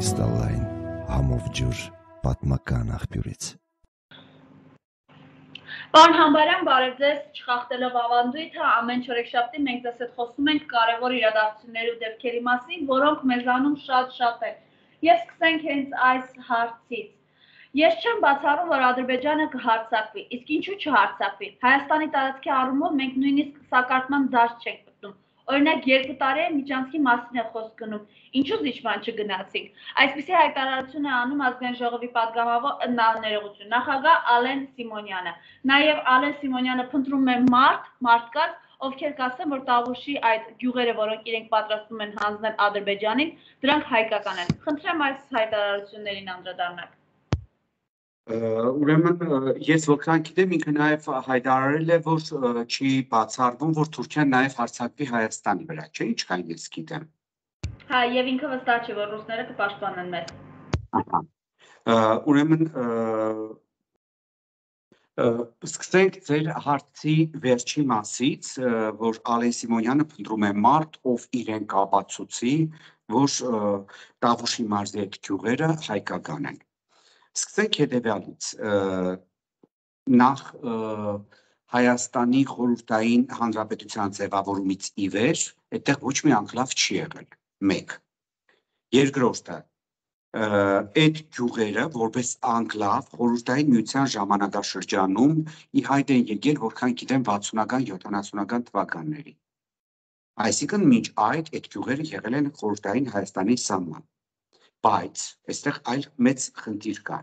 Կրիստալային համով ջուր պատմական աղբյուրից։ Պարոն Համբարյան, բարև ձեզ, չխախտելով ավանդույթը, ամեն չորեքշաբթի մենք ձեզ հետ խոսում ենք կարևոր իրադարձությունների ու դեպքերի մասին, որոնք մեզանում շատ են։ Եվ սկսենք հենց այս հարցից։ Ես չեմ բացառում, որ Ադրբեջանը կհարձակվի, իսկ ինչու չհարձակվի։ Հայաստանի տարածքի առումով մենք նույնիսկ սակարկման դաշտ չենք գտնում։ Օրինակ 2 տարի է միջանցքի մասին է խոսք գնում, ինչու զիջման չգնացինք։ Այսպիսի հայտարարություն է անում Ազգային ժողովի պատգամավոր նախագահ Ալեն Սիմոնյանը։ Նաև Ալեն Սիմոնյանը փնտրում է մարդկանց, ովքեր կասեն, որ Տավուշի այդ գյուղերը, որոնք իրենք պատրաստում են հանձնել Ադրբեջանին, դրանք հայկական են։ Խնդրեմ այս հայտարարություններին անդրադառնալ։ Ուրեմն ես որքան գիտեմ, ինքը նաև հայտարարել է, որ չի բացառվում, որ Թուրքիան նաև հարձակվի Հայաստանի վրա, չէ՞, ինչքան ես գիտեմ։ Հա, եւ ինքը վստահ չէ, որ ռուսները կպաշտպանեն մեզ։ Ուրեմն սկսենք ձեր հարցի վերջի մասից, որ Ալեն Սիմոնյանը փնտրում է մարդ, ով իրեն կապացուցի, որ Տավուշի մարզի այդ գյուղերը հայկական են։ Սկսենք հետևյալից, նախ Հայաստանի խորհրդային հանրապետության ձևավորումից ի վեր, այդտեղ ոչ մի անկլավ չի եղել, մեկ։ Երկրորդը, այդ գյուղերը, որպես անկլավ, խորհրդային միության ժամանակաշրջանում ի հայտ են եկել, որքան գիտեմ 60-ական, 70-ական թվականների։ Այսինքն մինչ այդ գյուղերը եղել են խորհրդային Հայաստանի սահման։ Բայց այստեղ այլ մեծ խնդիր կա։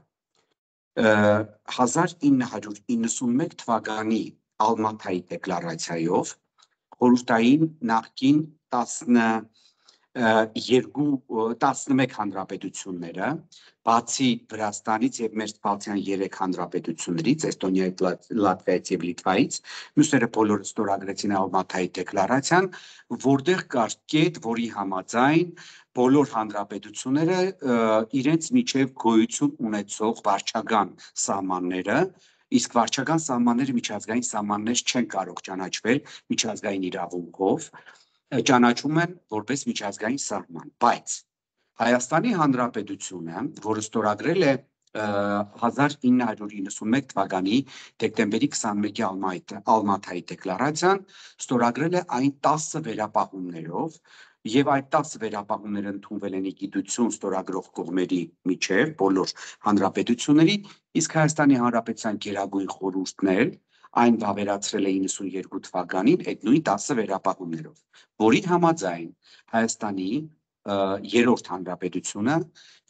1991 թվականի Ալմաթայի դեկլարացիայով խորհրդային նախկին 11 հանրապետությունները, բացի Վրաստանից եւ Մերձբալթյան 3 հանրապետություններից, Էստոնիայից, Լատվիայից եւ Լիտվայից, մյուսները բոլորը ստորագրեցին Ալմաթայի դեկլարացիան, որտեղ կար կետ, որի համաձայն բոլոր հանրապետությունները իրենց միջև գոյություն ունեցող վարչական սահմանները, իսկ վարչական սահմանները միջազգային սահմաններ չեն կարող ճանաչվել միջազգային իրավունքով, ճանաչում են որպես միջազգային սահման, բայց Հայաստանի Հանրապետությունը, որը ստորագրել է 1991 թվականի դեկտեմբերի 21-ի Ալմաթայի դեկլարացիան, ստորագրել է այն 10 վերապահումներով, եւ այդ 10 վերապահումները ընդունվել են ի գիտություն ստորագրող կողմերի միջև բոլոր հանրապետությունների, իսկ Հայաստանի Հանրապետության Գերագույն խորհուրդն էլ այն վավերացրել է 92 թվականին այդ նույն 10 վերապահումներով, որի համաձայն Հայաստանի երրորդ հանրապետությունը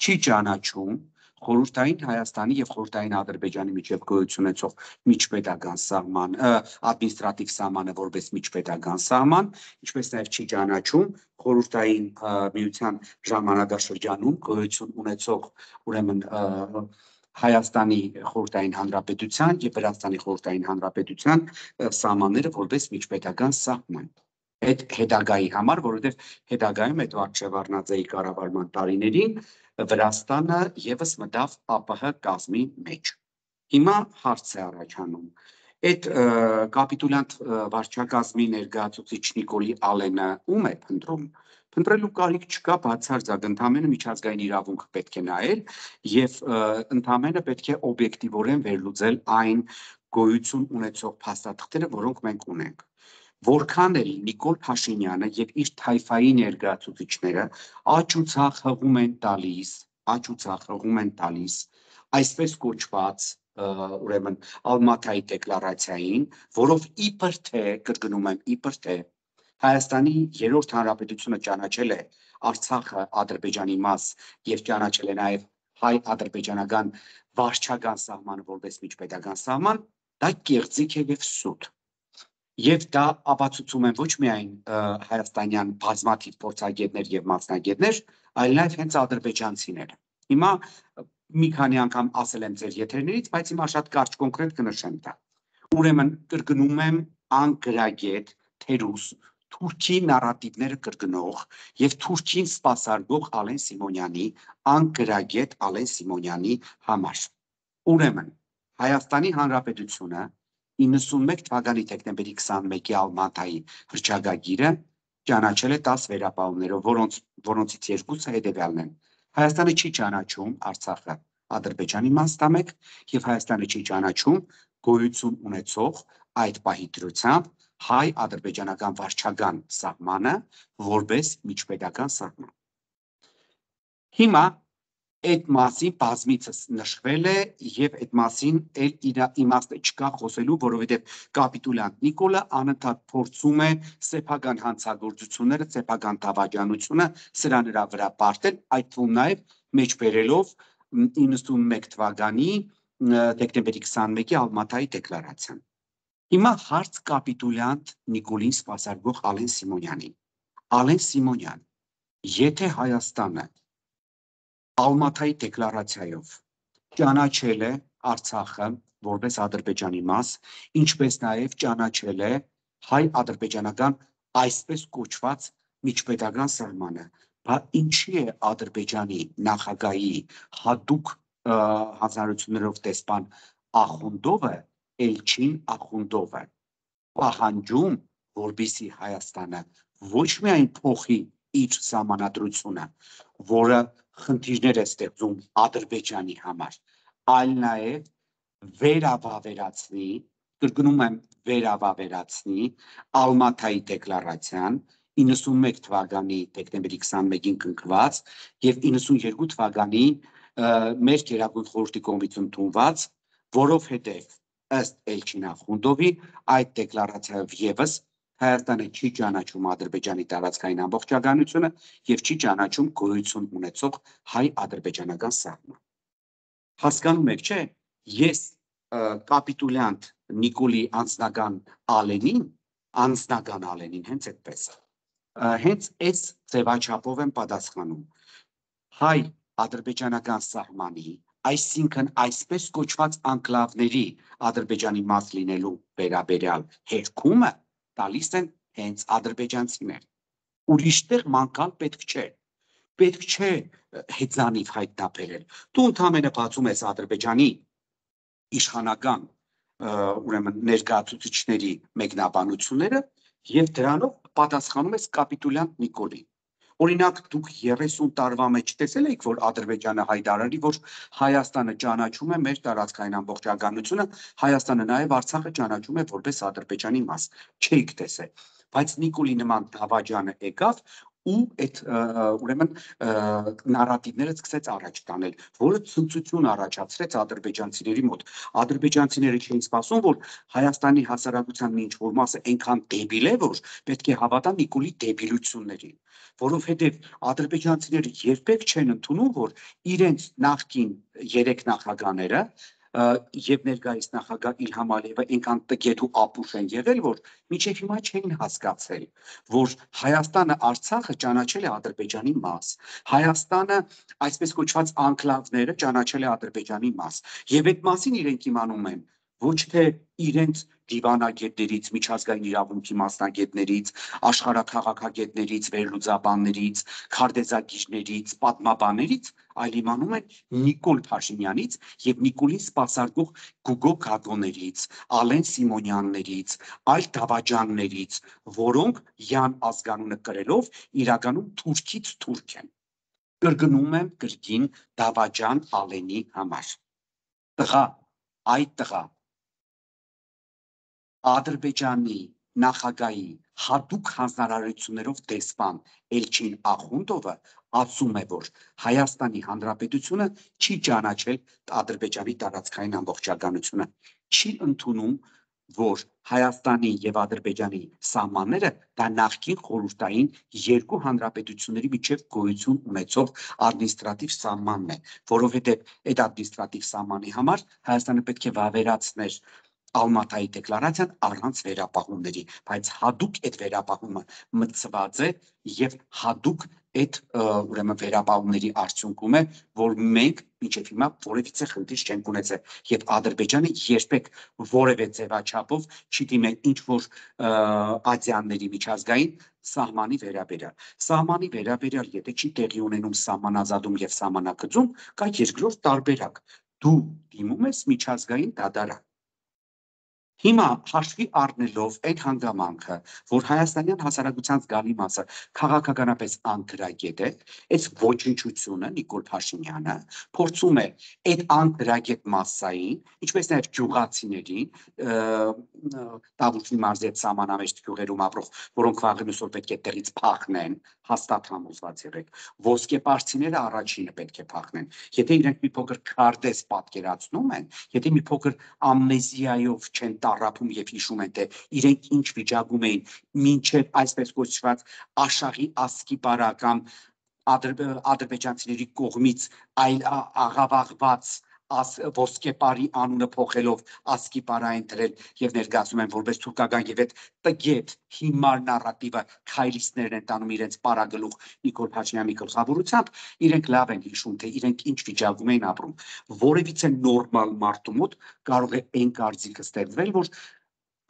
չի ճանաչում խորհրդային Հայաստանի եւ խորհրդային Ադրբեջանի միջև գոյություն ունեցող միջպետական սահման, ադմինիստրատիվ սահմանը որպես միջպետական սահման, ինչպես նաեւ չի ճանաչում խորհրդային միության ժամանակաշրջանում գոյություն ունեցող ուրեմն Հայաստանի խորհրդային հանրապետության եւ Վրաստանի խորհրդային հանրապետության սահմանները որպես միջպետական սահման։ Այդ հետագայի համար, որովհետեւ հետագայում այդ Վարչավառնաձեի կառավարման տարիներին Վրաստանը եւս մտավ ԱՊՀ կազմի մեջ։ Հիմա հարց է առաջանում. այդ կապիտուլյանտ վարչակազմի ներկայացուցիչ Նիկոլի Ալենը ում է փնտրում։ Փնտրելու կարիք չկա, բացարձակ ընդամենը միջազգային իրավունքը պետք է նայել եւ ընդամենը պետք է օբյեկտիվորեն վերլուծել այն գոյություն ունեցող փաստաթղթերը, որոնք մենք ունենք։ Որքան էլ Նիկոլ Փաշինյանը եւ իր թայֆայի ներկայացուցիչները աճուցախ հղում են տալիս այսպես կոչված ուրեմն Ալմաթայի դեկլարացիային, որով իբր թե, կրկնում եմ, իբր թե Հայաստանի երրորդ հանրապետությունը ճանաչել է Արցախը Ադրբեջանի մաս եւ ճանաչել է նաեւ հայ-ադրբեջանական վարչական սահմանը որպես միջպետական սահման, դա կեղծիք է եւ սուտ։ Եվ դա ապացուցում են ոչ միայն հայաստանյան բազմաթիվ փորձագետներ եւ մասնագետներ, այլ նաեւ հենց ադրբեջանցիները։ Հիմա մի քանի անգամ ասել եմ ձեր եթերներից, բայց հիմա շատ կարճ կոնկրետ կնշեմ դա։ Ուրեմն կրկնում եմ անգրագետ, թերուս, Թուրքի նարատիվները կրկնող եւ Թուրքին սպասարկող Ալեն Սիմոնյանի անգրագետ Ալեն Սիմոնյանի համար։ Ուրեմն Հայաստանի Հանրապետությունը 91 թվականի դեկտեմբերի 21-ի Ալմաթայի հռչակագիրը ճանաչել է 10 վերապահումներով, որոնցից երկուսը հետևյալն են. Հայաստանը չի ճանաչում Արցախը Ադրբեջանի մասնամեկ եւ Հայաստանը չի ճանաչում գոյություն ունեցող այդ պահի դրությամբ հայ-ադրբեջանական վարչական սահմանը որպես միջպետական սահման։ Հիմա այդ մասին բազմիցս նշվել է եւ այդ մասին էլ իր իմաստը չկա խոսելու, որովհետեւ կապիտուլյանտ Նիկոլը անընդհատ փորձում է սեփական հանցագործությունները, սեփական դավաճանությունը սրա նրա վրա պարտել, այդ թվում նաեւ մեջբերելով 91 թվականի դեկտեմբերի 21-ի Ալմատայի դեկլարացիան։ Հիմա հարց կապիտուլյանտ Նիկոլին սպասարկող Ալեն Սիմոնյանին։ Ալեն Սիմոնյան, եթե Հայաստանը Ալմատայի դեկլարացիայով ճանաչել է Արցախը որպես Ադրբեջանի մաս, ինչպես նաև ճանաչել է հայ-ադրբեջանական այսպես կոչված միջպետական սահմանը, բա ինչի է Ադրբեջանի նախագահի հատուկ հանձնարարություններով դեսպան Ախունդովը, Էլչին Ախունդովը պահանջում, որպեսզի Հայաստանը ոչ միայն փոխի իր սահմանադրությունը, որը խնդիրներ է ստեղծում Ադրբեջանի համար, այլ նաև վերավավերացնի, կրկնում եմ վերավավերացնի Ալմատայի դեկլարացիան 91 թվականի դեկտեմբերի 21-ին կնքված եւ 92 թվականի մեր Գերագույն խորհրդի կողմից ընդունված, որովհետեւ ըստ Էլչին Ախունդովի այդ դեկլարացիայով եւս Հայաստանը չի ճանաչում Ադրբեջանի տարածքային ամբողջականությունը եւ չի ճանաչում գոյություն ունեցող հայ-ադրբեջանական սահման։ Հասկանում եք, չէ՞, ես կապիտուլյանտ Նիկոլի անձնական Ալենին հենց այդպես հենց այս ձևաչափով եմ պատասխանում հայ-ադրբեջանական սահմանի, այսինքն այսպես կոչված անկլավների Ադրբեջանի մաս լինելու վերաբերյալ հերքումը տալիս են հենց ադրբեջանցիներ։ Ուրիշտեղ մանկալ պետք չէ։ Պետք չէ հեծանիվ հայտնաբերել։ Դու ընդհանրապես բացում ես Ադրբեջանի իշխանական ուրեմն ներկայացուցիչների մեկնաբանությունները եւ դրանով պատասխանում ես կապիտուլյանտ Նիկոլին։ Օրինակ դուք 30 տարվա մեջ տեսել եք, որ Ադրբեջանը հայտարարի, որ Հայաստանը ճանաչում է մեր տարածքային ամբողջականությունը, Հայաստանը նաև Արցախը ճանաչում է որպես Ադրբեջանի մաս։ Չէիք տեսել, բայց Նիկոլի նման դավաճանը եկավ ու այդ ուրեմն նարատիվները սկսեց առաջ տանել, որը ցնծություն առաջացրեց ադրբեջանցիների մոտ։ Ադրբեջանցիները չէին սպասում, որ Հայաստանի հասարակության մի ինչ-որ մասը այնքան դեբիլ է, որ պետք է հավատա Նիկոլի դեբիլություններին, որովհետև ադրբեջանցիները երբեք չեն ընդունում, որ իրենց նախկին 3 նախագահները եւ ներկայիս նախագահ Իլհամ Ալիևը այնքան տգետ ու ապուշ են եղել, որ մինչեւ հիմա չէին հասկացել, որ Հայաստանը Արցախը ճանաչել է Ադրբեջանի մաս, Հայաստանը այսպես կոչված անկլավները ճանաչել է Ադրբեջանի մաս, եւ այդ մասին իրենք իմանում են ոչ թե իրենց դիվանագետներից, միջազգային իրավունքի մասնագետներից, աշխարհաքաղաքագետներից, վերլուծաբաններից, քարտեզագիրներից, պատմաբաններից, այլ իմանում են Նիկոլ Փաշինյանից եւ Նիկոլին սպասարկող Գուգո Գագոներից, Ալեն Սիմոնյաններից, այլ դավաճաններից, որոնք յան ազգանունը կրելով իրականում թուրքից թուրք են։ Կրկնում եմ կրկին դավաճան Ալենի համար։ Տղա, այդ տղա Ադրբեջանի նախագահի հատուկ հանձնարարություններով դեսպան Էլչին Ախունդովը ասում է, որ Հայաստանի Հանրապետությունը չի ճանաչել Ադրբեջանի տարածքային ամբողջականությունը, չի ընդունում, որ Հայաստանի եւ Ադրբեջանի սահմանները դա նախկին խորհրդային երկու հանրապետությունների միջև գոյություն ունեցող ադմինիստրատիվ սահմանն է, որովհետեւ այդ ադմինիստրատիվ սահմանի համար Հայաստանը պետք է վավերացներ Ալմատայի դեկլարացիան առանց վերապահումների, բայց հատուկ այդ վերապահումը մտցված է եւ հատուկ այդ ուրեմն վերապահումների արդյունքում է, որ մենք մինչև հիմա որևիցե խնդիր չենք ունեցել եւ Ադրբեջանը երբեք որևէ ձևաչափով չի դիմել ինչ որ ադյանների միջազգային սահմանի վերաբերյալ։ Սահմանի վերաբերյալ եթե չի տեղի ունենում սահմանազատում եւ սահմանակցում, կա երկրորդ տարբերակ։ Դու դիմում ես միջազգային դատարան։ Հիմա հաշվի առնելով այդ հանգամանքը, որ հայաստանյան հասարակության զգալի մասը քաղաքականապես անկրագետ է, այս ոչնչությունը Նիկոլ Փաշինյանը փորձում է այդ անկրագետ մասսային, ինչպես նաև գյուղացիներին, Տավուշի մարզի այդ սահմանամերձ գյուղերում ապրող, որոնք վաղն այսօր պետք է տեղից փախնեն, հաստատ համոզված եղեք, ոսկեպարսիները առաջինը պետք է փախնեն։ Եթե իրենք մի փոքր քարտեզ պատկերացնում են, եթե մի փոքր ամնեզիայով չեն տառապում եւ հիշում են, թե իրենք ինչ վիճակում էին մինչև այսպես կոչված Աշաղի ասկիպարա կամ ադրբեջանցիների կողմից այլ աղավաղված ոսկեպարի անունը փոխելով ասկիպարա են դրել եւ ներկայացնում են որպես թուրքական եւ այդ տգետ հիմար նարատիվը քայլիստներն են տանում իրենց պարագլուխ Նիկոլ Փաշինյանի գլխավորությամբ, իրենք լավ են հիշում, թե իրենք ինչ վիճակում էին ապրում։ Որևիցե նորմալ մարդու մոտ կարող է այն կարծիքը ստեղծվել, որ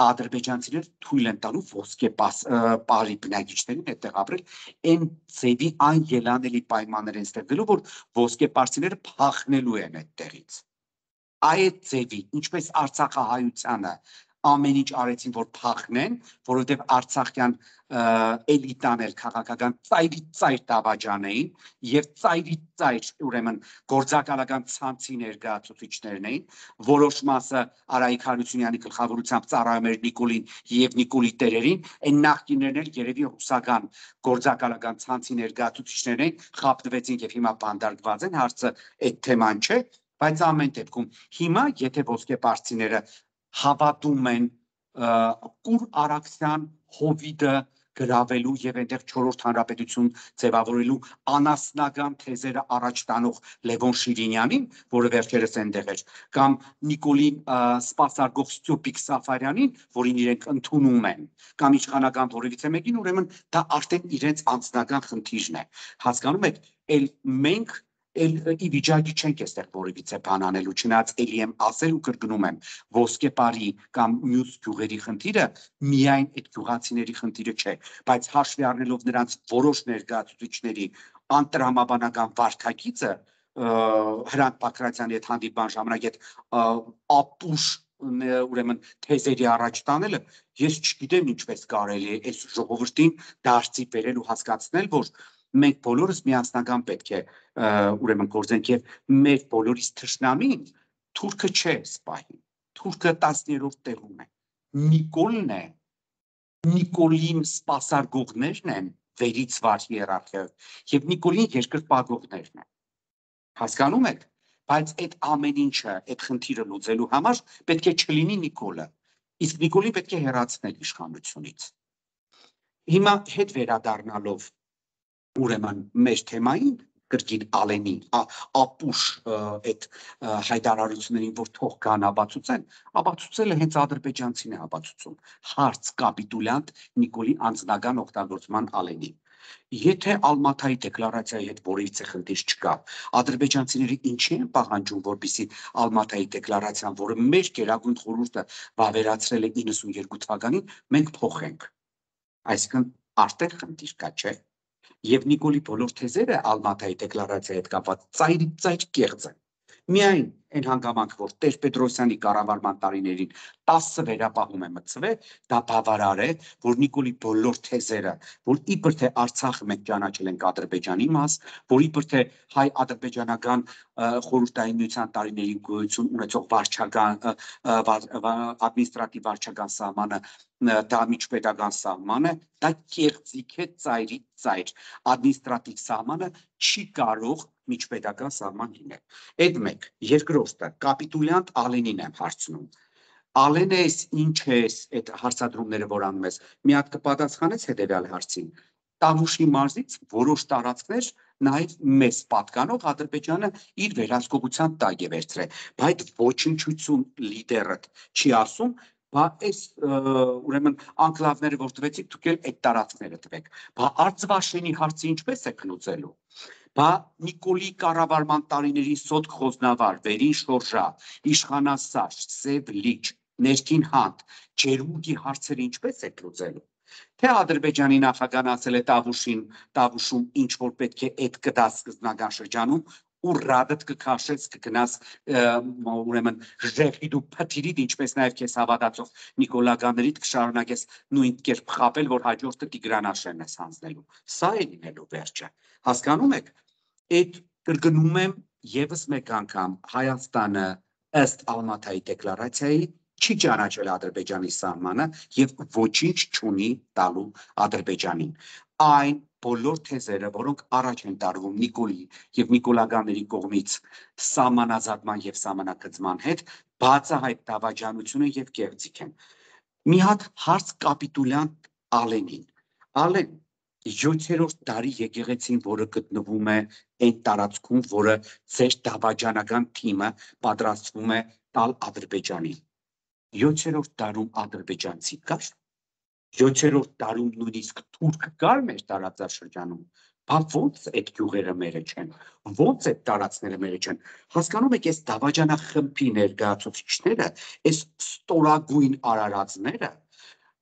ադրբեջանցիները թույլ են տալու ոսկեպարի բնակիչներին այդտեղ ապրել, այն ձևի անելանելի պայմաններ են ստեղծելու, որ ոսկեպարսիները փախնելու են այդտեղից։ Այդ ձևի, ինչպես արցախահայությանը ամեն ինչ արեցին, որ փախնեն, որովհետև արցախյան էլիտան էլ քաղաքական ծայրից ծայր դավաճան էին եւ ծայրից ծայր ուրեմն գործակալական ցանցի ներկայացուցիչներն էին, որոշ մասը Արայիկ Հարությունյանի գլխավորությամբ ծառայում էր Նիկոլին եւ Նիկոլի տերերին, այն նախկիններն էլ երևի ռուսական գործակալական ցանցի ներկայացուցիչներն էին, խապտվեցին եւ հիմա բանդարգված են, հարցը այդ թեման չէ, բայց ամեն դեպքում հիմա եթե ոսկեպարսիները հավատում են կուր արաքսյան հովիդը գրավելու եւ այնտեղ 4-րդ հանրապետություն ձևավորելու անասնական թեզերը առաջ տանող Լևոն Շիրինյանին, որը վերջերս այնտեղ էր, կամ Նիկոլի սպասարկող Ստյոպիկ Սաֆարյանին, որին իրենք ընդունում են, կամ իշխանական որևիցե մեկին, ուրեմն դա արդեն իրենց անձնական խնդիրն է։ Հասկանում եք, էլ մենք ի վիճակի չենք այստեղ որևիցե բան անելու, չնայած էլի եմ ասել ու կրկնում եմ, ոսկեպարի կամ մյուս գյուղերի խնդիրը միայն այդ գյուղացիների խնդիրը չէ, բայց հաշվի առնելով նրանց որոշ ներկայացուցիչների անտրամաբանական վարքագիծը, Հրանտ Բակրատյանի հետ հանդիպման ժամանակ այդ ապուշ ուրեմն թեզերի առաջ տանելը, ես չգիտեմ ինչպես կարելի է այս ժողովրդին դարձի բերել ու հասկացնել, որ մենք բոլորս միասնական պետք է ուրեմն գործենք եւ մեր բոլորիս թշնամին թուրքը չէ սպահին, թուրքը 10-րդ տեղում է, Նիկոլն է, Նիկոլին սպասարկողներն են վերից վար հիերարխիայով եւ Նիկոլին երկրպագողներն են, հասկանում եք, բայց այդ ամեն ինչը, այդ խնդիրը լուծելու համար պետք է չլինի Նիկոլը, իսկ Նիկոլին պետք է հեռացնել իշխանությունից։ Հիմա հետ վերադառնալով ուրեմն մեր թեմային կրկին Ալենի ապուշ այդ հայտարարություններին, որ թող կան ապացուցեն, ապացուցելը հենց ադրբեջանցին է ապացուցում, հարց կապիտուլյանտ Նիկոլի անձնական օգտագործման Ալենի։ Եթե Ալմաթայի դեկլարացիայի հետ որևիցե խնդիր չկա, ադրբեջանցիները ինչի են պահանջում, որպեսզի Ալմաթայի դեկլարացիան, որը մեր Գերագույն խորհուրդը վավերացրել է 92 թվականին, մենք փոխենք։ Այսինքն արդեն խնդիր կա, չէ՞։ Եվ Նիկոլի բոլոր թեզերը Ալմաթայի դեկլարացիայի հետ կապված ծայր կեղծ են։ Միայն այն հանգամանք, որ Տեր-Պետրոսյանի կառավարման տարիներին 10 վերապահում է մտցվել, դա բավարար է, որ Նիկոլի բոլոր թեզերը, որ իբր թե Արցախը մենք ճանաչել ենք Ադրբեջանի մաս, որ իբր թե հայ-ադրբեջանական խորհրդային միության տարիներին գոյություն ունեցող վարչական ադմինիստրատիվ վարչական սահմանը դա միջպետական սահման է, դա կեղծիք է ծայրից ծայր, ադմինիստրատիվ սահմանը չի կարող միջպետական սահման լինել։ Այդ մեկ, երկրորդը, կապիտուլյանտ Ալենին եմ հարցնում։ Ալենը ես ինչ ես այդ հարցադրումները, որ անում ես, մի հատ կպատասխանես հետևյալ հարցին։ Տավուշի մարզից որոշ տարածքներ նաև մեզ պատկանող Ադրբեջանը իր վերահսկողության տակ է վերցրել, բայց ոչնչություն լիդերը չի ասում, բա այս ուրեմն անկլավները, որ տվեցիք, դուք էլ այդ տարածքները տվեք։ Բա Արցվաշենի հարցը ինչպես է լուծելու։ Բա Նիկոլի կառավարման տարիների Սոտք Խոզնավար, Վերին Շորժա, Իշխանասար, Սև Լիճ, Ներքին Հանդ, Ջերմուկի հարցերը ինչպես է լուծելու։ Թե Ադրբեջանի նախագահան ասել է Տավուշում ինչ որ պետք է այդ կդա սկզբնական շրջանում, ու ռադդ կքաշես կգնաս ուրեմն ժեղիդ ու փթիրիդ ինչպես նաև քեզ հավատացող նիկոլագաներիդ կշարունակես նույն կերպ խապել, որ հաջորդը Տիգրանաշենն ես հանձնելու։ Սա է լինելու վերջը։ Հասկանում եք, այդ կրկնում եմ եւս մեկ անգամ Հայաստանը ըստ Ալմաթայի դեկլարացիայի չի ճանաչել Ադրբեջանի սահմանը եւ ոչինչ չունի տալու Ադրբեջանին։ Այն բոլոր թեզերը, որոնք առաջ են տարվում Նիկոլի եւ Նիկոլագաների կողմից սահմանազատման եւ սահմանակցման հետ, բացահայտ դավաճանությունը եւ կեղծիք են։ Մի հատ հարց կապիտուլյան Ալենին։ Ալեն 7-րդ դարի եկեղեցին, որը գտնվում է այն տարածքում, որը ձեր դավաճանական թիմը պատրաստվում է տալ Ադրբեջանին։ 7-րդ դարում ադրբեջանցի կար, 7-րդ դարում նույնիսկ թուրք կար մեր տարածաշրջանում, բա ո՞նց այդ գյուղերը մերը չեն, ո՞նց այդ տարածքները մերը չեն։ Հասկանում եք, այս դավաճանախմբի ներկայացուցիչները, այս ստորագույն արարածները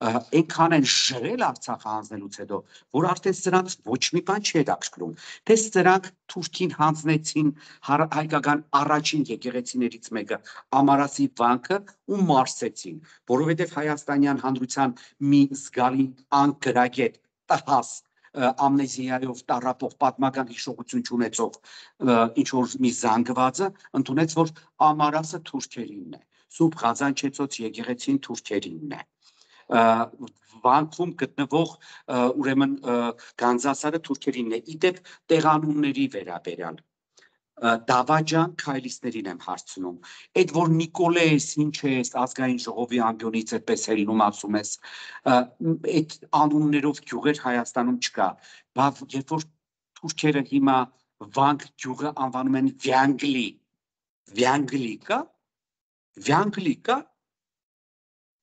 այնքան են ժրել Արցախը հանձնելուց հետո, որ արդեն սրանց ոչ մի բան չի հետաքրքրում, թե սրանք Թուրքին հանձնեցին հայկական առաջին եկեղեցիներից մեկը Ամարասի վանքը ու մարսեցին, որովհետև հայաստանյան հանրության մի զգալի անկրագետ տհաս ամնեզիայով տառապող պատմական հիշողություն չունեցող ինչ որ մի զանգվածը ընդունեց, որ Ամարասը թուրքերինն է, Սուրբ Ղազանչեցոց եկեղեցին թուրքերինն է, վանքում գտնվող ուրեմն Գանձասարը թուրքերինն է։ Իդեպ տեղանունների վերաբերյալ դավաճան քայլիստերին եմ հարցնում, այդ որ Նիկոլե ես, ինչ ես, ազգային ժողովի անկյունից այդպես ելնում ասում ես, այդ անուններով գյուղեր Հայաստանում չկա, բավ երբ որ թուրքերը հիմա Վանք գյուղը անվանում են Վյանգլի կա,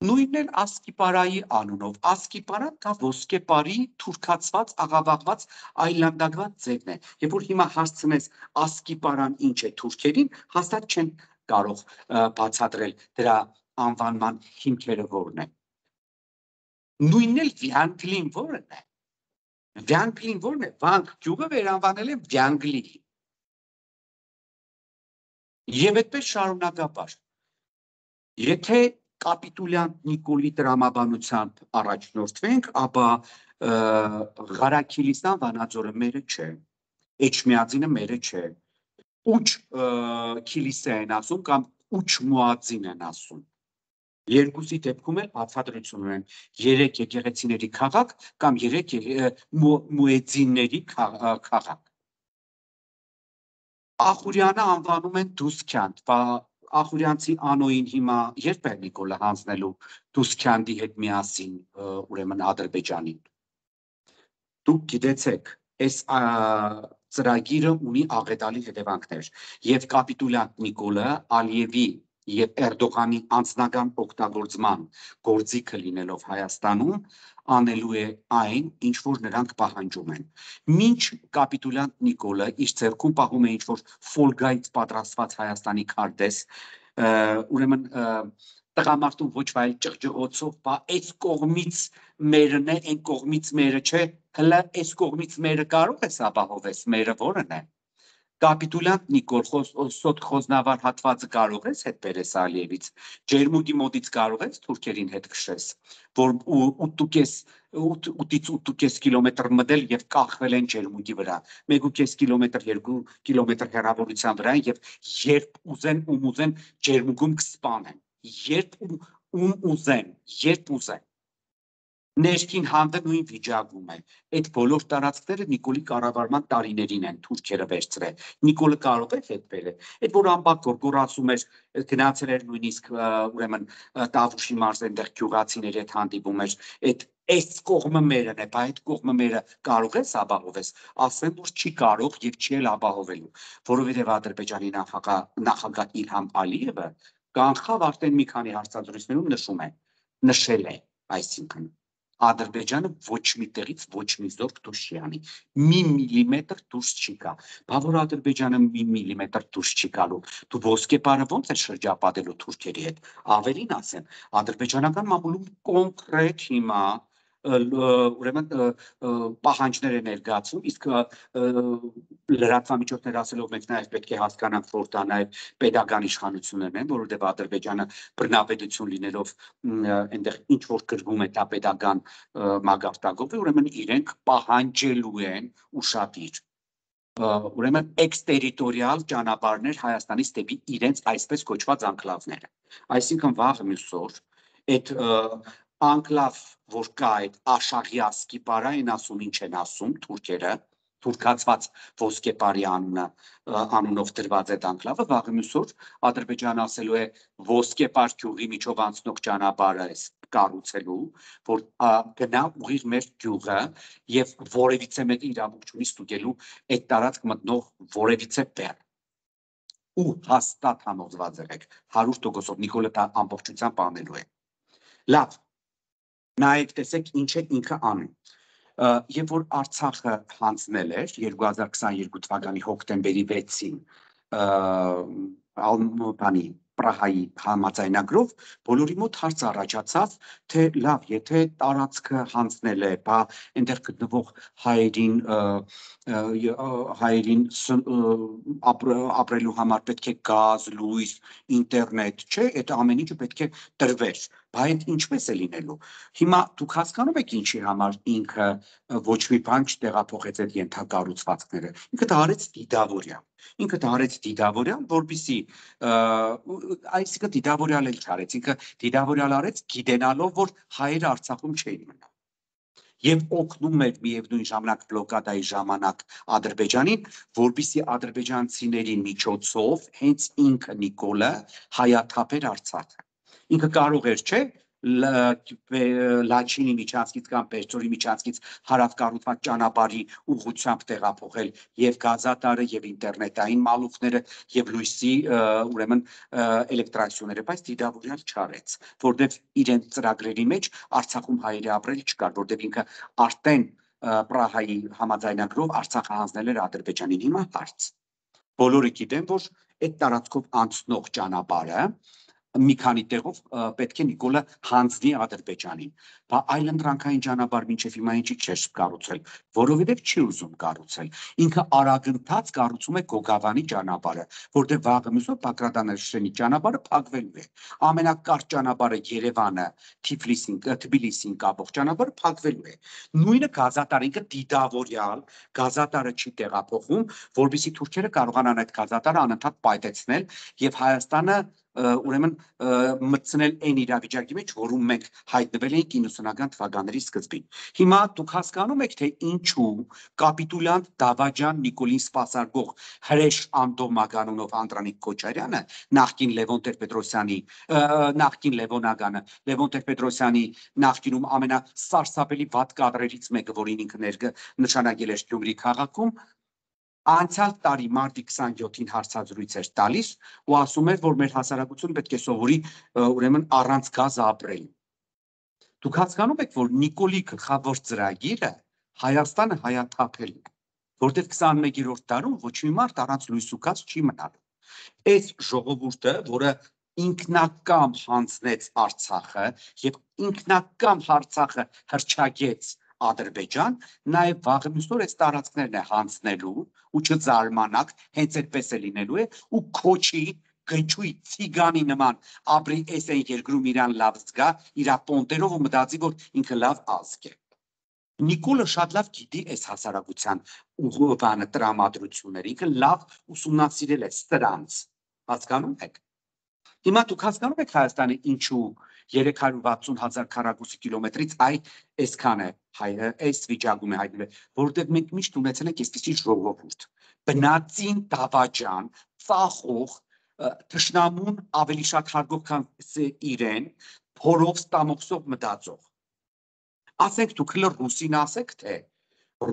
նույնն էլ Ասկիպարայի անունով, Ասկիպարան կա ոսկեպարի թուրքացված, աղավաղված, այլանդակված ձևն է, երբ որ հիմա հասցնես Ասկիպարան ինչ է թուրքերին, հաստատ չեն կարող բացատրել դրա անվանման հիմքերը որն է։ Նույնն էլ Վյանգլին որն է։ Վյանգլին որն է, Վանք գյուղը վերանվանել են Վյանգլի։ Եվ այդպես շարունակաբար։ Եթե կապիտուլյան Նիկոլի տրամաբանությամբ առաջնորդվենք, ապա Ղարաքիլիստան Վանաձորը մերը չէ, Էջմիածինը մերը չէ, Ուչ Քիլիսե են ասում կամ Ուչ Մուածին են ասում։ Երկուսի դեպքում էլ բացատրություն ունեն 3 եկեղեցիների քաղաք կամ 3 մուեձինների քաղաք։ Ախուրյանը անվանում են Դուսքյանդ, Ախուրյանցի անոյին հիմա երբ է Նիկոլը հանձնելու Դուսքյանդի հետ միասին ուրեմն Ադրբեջանին։ Դուք գիտեցեք, այս ծրագիրը ունի աղետալի հետևանքներ եւ կապիտուլյան Նիկոլը Ալիևի եւ Էրդողանի անձնական օգտագործման գործիքը լինելով Հայաստանում անելու է այն, ինչ որ նրանք պահանջում են։ Մինչ կապիտուլյան Նիկոլը իր ձեռքում պահում է ինչ որ ֆոլգայից պատրաստված Հայաստանի քարտեզ, ուրեմն տղամարդուն ոչ վայել ճղճղոցով, բա այս կողմից մերն է, այն կողմից մերը չէ, հլը այս կողմից մերը կարող ես ապահովես, մերը որն է։ Կապիտուլյան Նիկոլ սոտ խոզնավար հատվածը կարող ես հետ բերես Ալիևից, Ջերմուկի մոտից կարող ես թուրքերին հետ քշես, որ 8.5 կիլոմետր մտել եւ կախվել են Ջերմուկի վրա, 1.5 կիլոմետր, 2 կիլոմետր հեռավորության վրա եւ երբ ուզեն ում ուզեն Ջերմուկում կսպանեն, երբ ուզեն Ներքին հանդը նույն վիճակում է, այդ բոլոր տարածքները Նիկոլի կառավարման տարիներին են թուրքերը վերցրել, Նիկոլը կարող է հետ բերել, այդ որ ամբակ գորգոր ասում էր, գնացել էր նույնիսկ ուրեմն Տավուշի մարզ այնտեղ գյուղացիների հետ հանդիպում էր, այս կողմը մերն է, բայց այդ կողմը մերը կարող ես ապահովես, ասեն որ չի կարող եւ չի էլ ապահովելու, որովհետեւ Ադրբեջանի նախագահ Իլհամ Ալիևը կանխավ արդեն մի քանի հարցազրույցներում նշել է, այսինքն Ադրբեջանը ոչ մի տեղից ոչ մի զորք դուրս չի անի, մի միլիմետր դուրս չի գա, բա որ Ադրբեջանը մի միլիմետր դուրս չի գալու, դու ոսկեպարը ոնց է շրջապատելու թուրքերի հետ, ավելին ասեմ, ադրբեջանական մամուլում կոնկրետ հիմա ուրեմն պահանջներ է ներկայացում, իսկ լրատվամիջոցներ ասելով մենք նաև պետք է հասկանանք, որ դա նաև պետական իշխանություններն են, որովհետև Ադրբեջանը բռնապետություն լինելով այնտեղ ինչ որ գրվում է դա պետական մագարտակով է, ուրեմն իրենք պահանջելու են ուշադիր ուրեմն էքստերիտորիալ ճանապարհներ Հայաստանից դեպի իրենց այսպես կոչված անկլավները։ Այսինքն վաղ մյուս օր այդ անկլավ, որ կա այդ Աշաղյասկի պարային ասում ինչ են ասում թուրքերը, թուրքացված ոսկեպարի անունով դրված այդ անկլավը, վաղ մյուս օր Ադրբեջանը ասելու է ոսկեպար գյուղի միջով անցնող ճանապարհը կառուցելու, որ գնա ուղիղ մեր գյուղը եւ որևիցե մեկը իրավունք չունի ստուգելու այդ տարածք մտնող որևիցե բեռ։ Ու հաստատ համոզված եղեք 100%-ով Նիկոլը դա ամբողջությամբ անելու է։ Լավ, նայեք տեսեք ինչ է ինքը անում։ Երբ որ Արցախը հանձնել էր 2022 թվականի հոկտեմբերի 6-ին բանի Պրահայի համաձայնագրով բոլորի մոտ հարց առաջացավ, թե լավ, եթե տարածքը հանձնել է, բա այնտեղ գտնվող հայերին ապրելու համար պետք է գազ, լույս, ինտերնետ, չէ, այդ ամեն ինչը պետք է տրվեր, բա այդ ինչպես է լինելու։ Հիմա դուք հասկանում եք ինչի համար ինքը ոչ մի բան չտեղափոխեց այդ ենթակառուցվածքները։ Ինքը դա արեց դիտավորյալ։ Ինքը դա արեց դիտավորյալ, որպեսզի այսինքն դիտավորյալ էլ չարեց, ինքը դիտավորյալ արեց գիտենալով, որ հայերը Արցախում չէին մնա։ Եվ օգնում էր միևնույն ժամանակ բլոկադայի ժամանակ Ադրբեջանին, որպեսզի ադրբեջանցիների միջոցով հենց ինքը Նիկոլը հայաթափեր Արցախը։ Ինքը կարող էր, չէ, Լաչինի միջանցքից կամ Պերճորի միջանցքից հարավկառուցված ճանապարհի ուղղությամբ տեղափոխել եւ գազատարը եւ ինտերնետային մալուխները եւ լույսի ուրեմն էլեկտրակցիաները, բայց դիտավորյալ չարեց, որտեղ իրենց ծրագրերի մեջ Արցախում հայերի ապրել չկար, որտեղ ինքը արդեն Պրահայի համաձայնագրով Արցախը հանձնել էր Ադրբեջանին։ Հիմա հարց։ Բոլորը գիտեն, որ այդ տարածքով անցնող ճանապարհը մի քանի տեղով պետք է Նիկոլը հանձնի Ադրբեջանին, բա այլընտրանքային ճանապարհ մինչև հիմա ինչի չէր կառուցել, որովհետև չի ուզում կառուցել։ Ինքը արագընթաց կառուցում է Գոգավանի ճանապարհը, որտեղ վաղը մյուս օր Բագրատանաշրջանի ճանապարհը փակվելու է։ Ամենակարճ ճանապարհը Երևանը, Թբիլիսին կապող ճանապարհը փակվելու է։ Նույնը գազատարը, ինքը դիտավորյալ գազատարը չի տեղափոխում, որովհետեւ թուրքերը կարողանան այդ գազատարը անընդհատ պայթեցնել եւ Հայաստանը ուրեմն մտցնել այն իրավիճակի մեջ, որում մենք հայտնվել էինք 90-ական թվականների սկզբին։ Հիմա դուք հասկանում եք, թե ինչու կապիտուլյանտ Դավաճան Նիկոլին սպասարկող հրեշ Անդոմակ անունով Անդրանիկ Քոչարյանը, նախկին Լևոն Տեր-Պետրոսյանի, նախկին Լևոնագանը, Լևոն Տեր-Պետրոսյանի նախկինում ամենասարսափելի վատ կադրերից մեկը, որին ինքը նշանակել էր Գյումրի քաղաքում, անցյալ տարի մարտի 27-ին հարցազրույց էր տալիս ու ասում էր, որ մեր հասարակությունը պետք է սովորի ուրեմն առանց գազ ապրել։ Դուք հասկանում եք, որ Նիկոլի գլխավոր ծրագիրը Հայաստանը հայաթափելն է, որտեղ 21-րդ դարում ոչ մի մարդ առանց լույս ու գազ չի մնալու։ Այս ժողովուրդը, որը ինքնակամ հանձնեց Արցախը եւ ինքնակամ Արցախը հրճագեց Ադրբեջան, նաև վաղը մյուս օր այս տարածքներն է հանձնելու ու չզարմանաք, հենց այդպես է լինելու է ու քոչի գնչուի ցիգանի նման ապրի այս այն երկրում իրան լավ զգա, իր պոնտերով ու մտածի, որ ինքը լավ ազգ է։ Նիկոլը շատ լավ գիտի այս հասարակության ուղղանը տրամադրությունները, ինքը լավ ուսումնասիրել է սրանց, հասկանում եք։ Հիմա դուք հասկանում եք Հայաստանը ինչու 360,000 քառակուսի կիլոմետրից այսքան է այս վիճակում է հայտնվել, որովհետև մենք միշտ ունեցել ենք այսպիսի ժողովուրդ, բնածին Դավաճան, ծախող, թշնամուն ավելի շատ հարգող, քան իրեն, փորով ստամոքսով մտածող։ Ասենք դուք հլը ռուսին ասեք, թե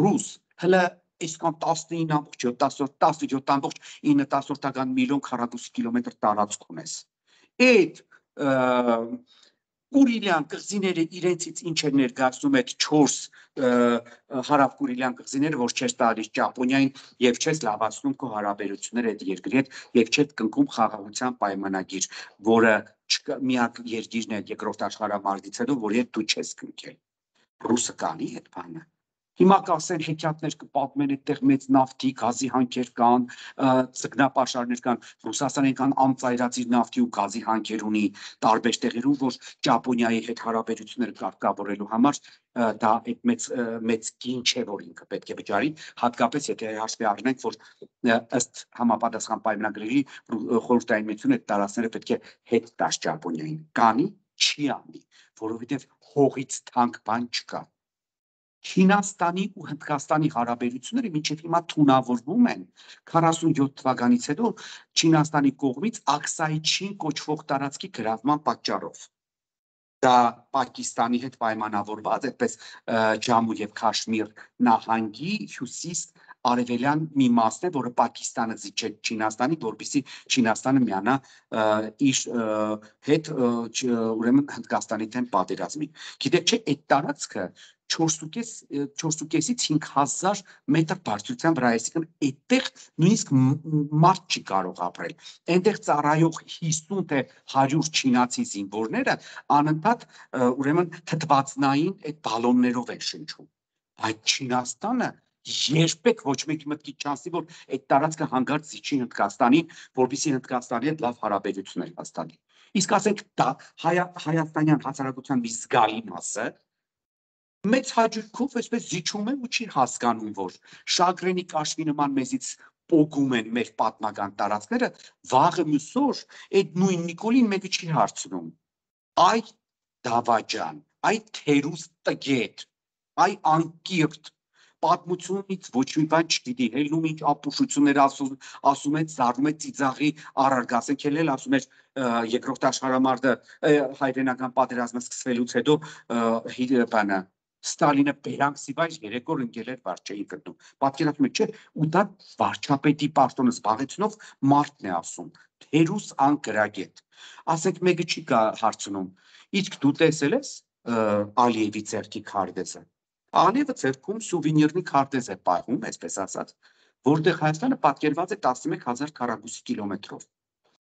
ռուս հլը այսքան 17,9 միլիոն քառակուսի կիլոմետր տարածք ունես։ Այդ Կուրիլյան կղզիները իրենցից ինչ էր ներկայացնում այդ 4 հարավ-կուրիլյան կղզիները, որ չես տալիս Ճապոնիային եւ չես լավացնում քո հարաբերությունները այդ երկրի հետ եւ չես կնքում խաղաղության պայմանագիր, որը միակ երկիրն է երկրորդ աշխարհամարտից հետո, որի հետ դու չես կնքել։ ռուսը կանի այդ բանը։ Հիմա կասեն հեքիաթներ կպատմեն այդտեղ մեծ նավթի, գազի հանքեր կան, ձկնապաշարներ կան, Ռուսաստանը կան անծայրածիր նավթի ու գազի հանքեր ունի տարբեր տեղերում, որ Ճապոնիայի հետ հարաբերությունները կարգավորելու համար դա այդ մեծ գին չէ, որ ինքը պետք է վճարի, հատկապես եթե հաշվի առնենք, որ ըստ համապատասխան պայմանագրերի խորհրդային միությունը այդ տարածքները պետք է հետ տաս Ճապոնիային, կանի չի անի, որովհետև հողից թանկ բան չկա։ Չինաստանի ու Հնդկաստանի հարաբերությունները մինչև հիմա թունավորվում են 47 թվականից հետո Չինաստանի կողմից Աքսայ-Չին կոչվող տարածքի գրավման պատճառով։ Դա Պակիստանի հետ պայմանավորված, այդպես Ջամու եւ Քաշմիր նահանգի հյուսիս արևելյան մի մասն է, որը Պակիստանը զիջեց Չինաստանի, որպեսզի Չինաստանը միանա իր հետ ուրեմն Հնդկաստանի դեմ պատերազմի։ Գիտեք չէ, այդ տարածքը 4.5-ից 5,000 մետր բարձրության վրա է, այսինքն այդտեղ նույնիսկ մարդ չի կարող ապրել։ Այնտեղ ծառայող 50 թե 100 չինացի զինվորները անընդհատ ուրեմն թթվածնային այդ բալոններով են շնչում։ Այդ Չինաստանը երբեք ոչ մեկի մտքի չանցի, որ այդ տարածքը հանգարց զիջի Հնդկաստանին, որպեսզի Հնդկաստանի հետ լավ հարաբերություններ հաստատի։ Իսկ ասենք դա հայաստանյան հասարակության մի զգալի մասը մեծ հաճույքով այսպես զիջում է ու չի հասկանում, որ Շագրենի Կաշվի նման մեզից պոկում են մեր պատմական տարածքները, վաղը մյուսօր այդ նույն Նիկոլին մեկը չի հարցնում։ Այ դավաճան, այ թերուս տգետ, այ անկիրթ պատմությունից ոչ մի բան չգիտի, հելնում ինչ ապուշություններ ասում է, զարում է ծիծաղի առարգ, ասենք էլ ասում էր երկրորդ աշխարհամարտը հայրենական պատերազմը սկսվելուց հետո բանը Ստալինը բերանքսիվայր 3 օր ընկել էր վարչեի գտնում։ Պատկերացնում եք, չէ, ու դա վարչապետի պաշտոնը զբաղեցնող մարդն է ասում, թերուս անկրագետ։ Ասենք մեկը չի հարցնում, իսկ դու տեսել ես Ալիևի ձեռքի քարտեզը։ Ալիևը ձեռքում սուվենիրնի քարտեզ է պահում, այսպես ասած, որտեղ Հայաստանը պատկերված է 11,000 քառակուսի կիլոմետրով։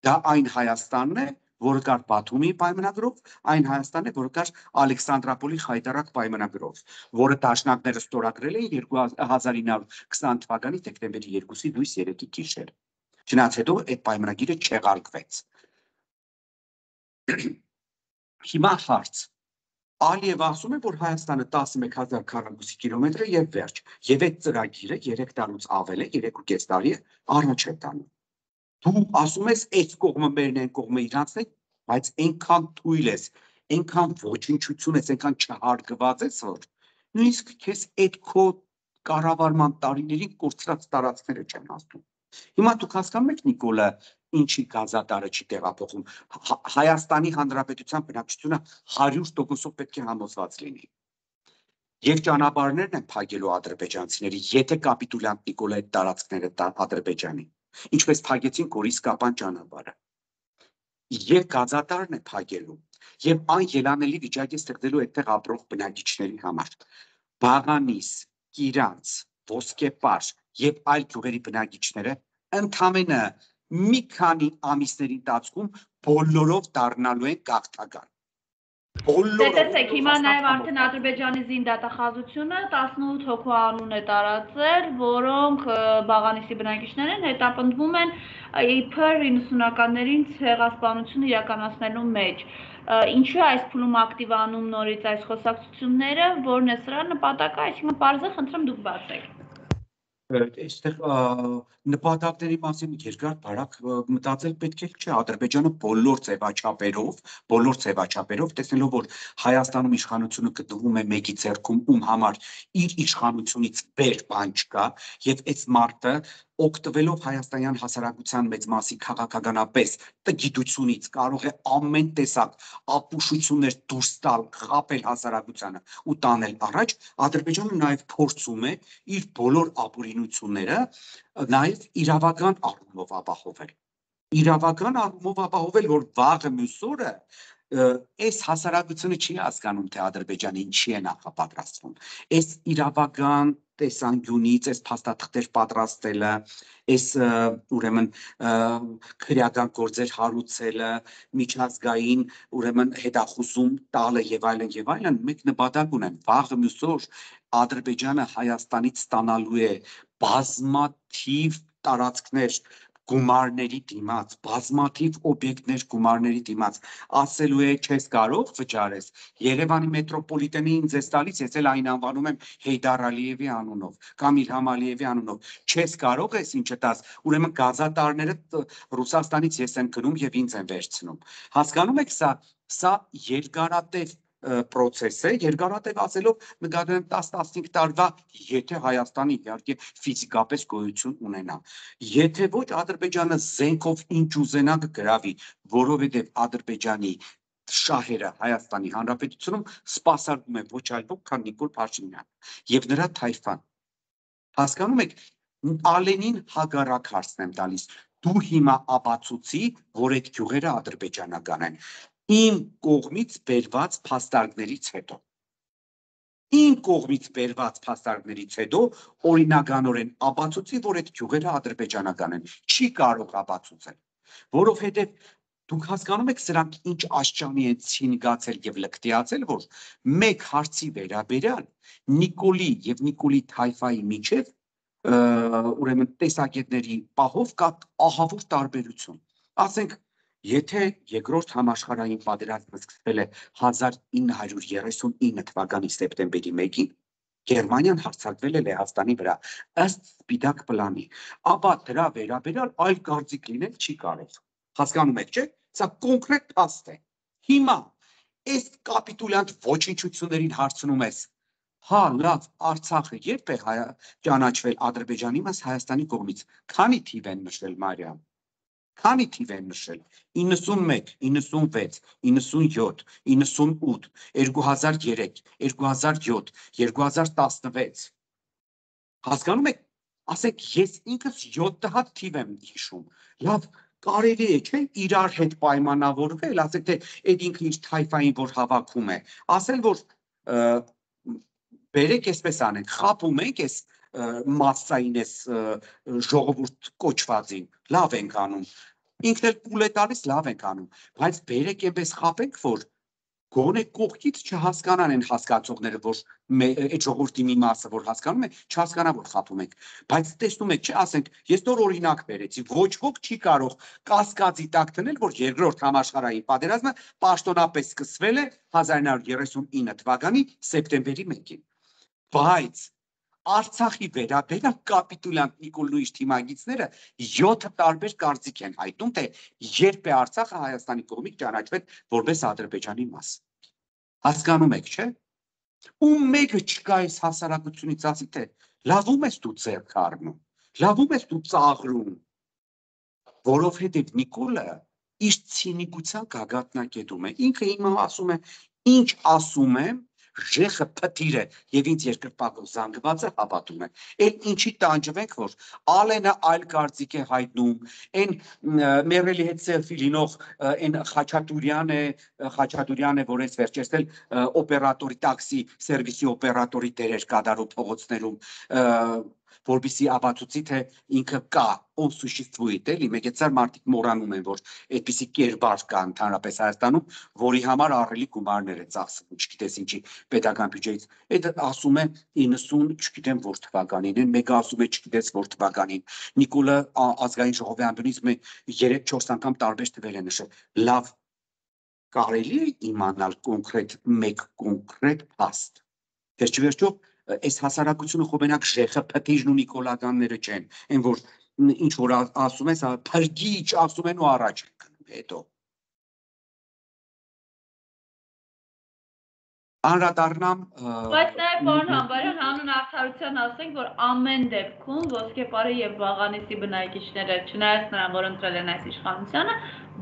Դա այն Հայաստանն է, որը կար Բաթումի պայմանագրով, այն Հայաստանն է, որը կար Ալեքսանդրապոլի Խայտարակ պայմանագրով, որը դաշնակները ստորագրել էին 1920 թվականի դեկտեմբերի 2-ի լույս 3-ի գիշեր։ Չնայած հետո այդ պայմանագիրը չեղարկվեց։ Հիմա հարց։ Ալիևը ասում է, որ Հայաստանը 11,000 քառակուսի կիլոմետր է եւ վերջ, եւ այդ ծրագիրը 3 տարուց ավել է, 3.5 տարի է առաջ է տանում։ Դու ասում ես, այս կողմը մերն է, այն կողմը իրանցն է, բայց այնքան թույլ ես, այնքան ոչնչություն ես, այնքան չհարգված ես, որ նույնիսկ քեզ այդ քո կառավարման տարիներին կորցրած տարածքները չեն ասում։ Հիմա դուք հասկանում եք Նիկոլը ինչի գազատարը չի տեղափոխում։ Հայաստանի Հանրապետության բնակչությունը 100%-ով պետք է համոզված լինի։ Եվ ճանապարհներն են փակելու ադրբեջանցիների, եթե կապիտուլյանտ Նիկոլը այդ տարածքները տա Ադրբեջանին, ինչպես փակեցին Գորիս-Կապան ճանապարհը։ Եվ գազատարն է փակելու, եւ այն ելանելի վիճակի ստեղծելու այդտեղ ապրող բնակիչների համար։ Բաղանիս, Կիրանց, Ոսկեպար եւ այլ գյուղերի բնակիչները ընդամենը մի քանի ամիսների ընթացքում բոլորով դառնալու են գաղթական։ Տեսեք, հիմա նաև արդեն Ադրբեջանի զինդատախազությունը 18 հոգու անուն է տարածել, որոնք Բաղանիսի բնակիչներ են, հետապնդվում են իբր 90-ականներին ցեղասպանությունը իրականացնելու մեջ։ Ինչու է այս փուլում ակտիվանում նորից այս խոսակցությունները, որն է սրա նպատակը, այսինքն պարզը խնդրեմ դուք բացեք։ Այստեղ նպատակների մասին երկար բարակ մտածել պետք է չէ, Ադրբեջանը բոլոր ձևաչափերով տեսնելով, որ Հայաստանում իշխանությունը գտնվում է մեկի ձեռքում, ում համար իր իշխանությունից վեր բան չկա, եւ այս մարտը օգտվելով հայաստանյան հասարակության մեծ մասի քաղաքականապես տգիտությունից կարող է ամեն տեսակ ապուշություններ դուրս տալ, խաբել հասարակությանը ու տանել առաջ, Ադրբեջանը նաև փորձում է իր բոլոր ապօրինությունները նաև իրավական առումով ապահովել։ Իրավական առումով ապահովել, որ վաղը մյուս օրը այս հասարակությունը չի հասկանում, թե Ադրբեջանը ինչի է նախապատրաստվում։ Այս իրավական տեսանկյունից այս փաստաթղթեր պատրաստելը, այս ուրեմն քրեական գործեր հարուցելը, միջազգային ուրեմն հետախուզում տալը եւ այլն, մեկ նպատակ ունեն, վաղը մյուս օր Ադրբեջանը Հայաստանից ստանալու է բազմաթիվ տարածքներ գումարների դիմաց, բազմաթիվ օբյեկտներ գումարների դիմաց, ասելու է չես կարող վճարես, Երևանի մետրոպոլիտենի ինձ ես տալիս, ես էլ այն անվանում եմ Հեյդար Ալիևի անունով, կամ Իլհամ Ալիևի անունով, չես կարող ես ինչը տաս, ուրեմն գազատարները Ռուսաստանից ես եմ գնում եւ ինձ են վերցնում, հասկանում եք սա երկարատև պրոցես է, երկարատև ասելով նկատում եմ 10-15 տարվա, եթե Հայաստանի իհարկե ֆիզիկապես գոյություն ունենա, եթե ոչ Ադրբեջանը զենքով ինչ ուզենա կգրավի, որովհետև Ադրբեջանի շահերը Հայաստանի Հանրապետությունում սպասարկում է ոչ այլ ոք, քան Նիկոլ Փաշինյանը եւ նրա թայֆան, հասկանում եք, Ալենին հակառակ հարցն եմ տալիս, դու հիմա ապացուցի, որ այդ գյուղերը ադրբեջանական են, իմ կողմից բերված փաստարկներից հետո, օրինականորեն ապացուցի, որ այդ գյուղերը ադրբեջանական են, չի կարող ապացուցել, որովհետև դուք հասկանում եք սրանք ինչ աշճանի են ցինգացել եւ լկտիացել, որ մեկ հարցի վերաբերյալ Նիկոլի եւ Նիկոլի թայֆայի միջև ուրեմն տեսակետների պահով կա ահավոր տարբերություն, ասենք, եթե երկրորդ համաշխարհային պատերազմը սկսվել է 1939 թվականի սեպտեմբերի 1-ին, Գերմանիան հարձակվել է Լեհաստանի վրա, ըստ սպիտակ պլանի, ապա դրա վերաբերյալ այլ կարծիք լինել չի կարող, հասկանում եք, չէ՞, սա կոնկրետ փաստ է, հիմա, այս կապիտուլյանտ ոչնչություններին հարցնում ես, հա, լավ, Արցախը երբ է ճանաչվել Ադրբեջանի մաս Հայաստանի կողմից, քանի թիվ են նշել Մարիամ, քանի թիվ են նշել, 91, 96, 97, 98, 2003, 2007, 2016, հասկանում եք, ասեք, ես ինքս 7 հատ թիվ եմ հիշում, լավ, կարելի է, չէ, իրար հետ պայմանավորվել, ասեք, թե այդ ինքը իր թայֆային, որ հավաքում է, ասել, որ բերեք այսպես անենք, խապում ենք այս մասսային այս ժողովուրդ կոչվածին, լավ ենք անում, ինքն էլ կուլ է տալիս, լավ ենք անում, բայց բերեք այնպես խապենք, որ գոնե կողքից չհասկանան են հասկացողները, որ այդ ժողովրդի մի մասը, որ հասկանում է, չհասկանա, որ խապում ենք, բայց տեսնում եք, չէ, ասենք, ես նոր օրինակ բերեցի, ոչ ոք չի կարող կասկածի տակ դնել, որ երկրորդ համաշխարհային պատերազմը պաշտոնապես սկսվել է 1939 թվականի սեպտեմբերի 1-ին, բայց Արցախի վերաբերյալ կապիտուլյանտ Նիկոլն ու իր թիմագիծները 7 տարբեր կարծիք են հայտնում, թե երբ է Արցախը Հայաստանի կողմից ճանաչվել որպես Ադրբեջանի մաս, հասկանում եք, չէ, ու մեկը չկա այս հասարակությունից ասի, թե լավում ես դու ձեռք առնում, լավում ես դու ծաղրում, որովհետև Նիկոլը իր ցինիկության գագաթնակետում է, ինքը հիմա ասում է, ինչ ասում եմ, Ժեխը փթիր է եւ ինձ երկրպագով զանգված է հավատում է, էլ ինչի տանջվենք, որ Ալենը այլ կարծիք է հայտնում, այն մերելի հետ սելֆի լինող այն Խաչատուրյան է, որ ես վերջերսել օպերատորի տաքսի սերվիսի օպերատորի դեր էր կատարում փողոցներում, որպեսզի ապացուցի, թե ինքը կա, on սուշիստվույթ էլի, մեկ մարդիկ մոռանում են, որ այդպիսի կերպար կա ընդհանրապես Հայաստանում, որի համար ահռելի գումարներ է ծախսվում, չգիտես ինչի պետական բյուջեից, այդ ասում է 90, չգիտեմ որ թվականին են, մեկը ասում է չգիտես որ թվականին, Նիկոլը ազգային ժողովի ամբյոնից 3-4 անգամ տարբեր թվեր է նշել, լավ, կարելի է իմանալ մեկ կոնկրետ փաստ, վերջիվերջո այս հասարակությունը խոբենակ Ժեխը փթիժն ու նիկոլականները չեն, այն որ ինչ որ ասում ես, փրկիչ ասում են ու առաջ են գնում հետո։ Անդրադառնամ Բայց նաև պարոն Համբարյան հանուն արդարության ասենք, որ ամեն դեպքում Ոսկեպարի եւ Վաղանիսի բնակիչները, չնայած նրան, որ ընտրել են այս իշխանությանը,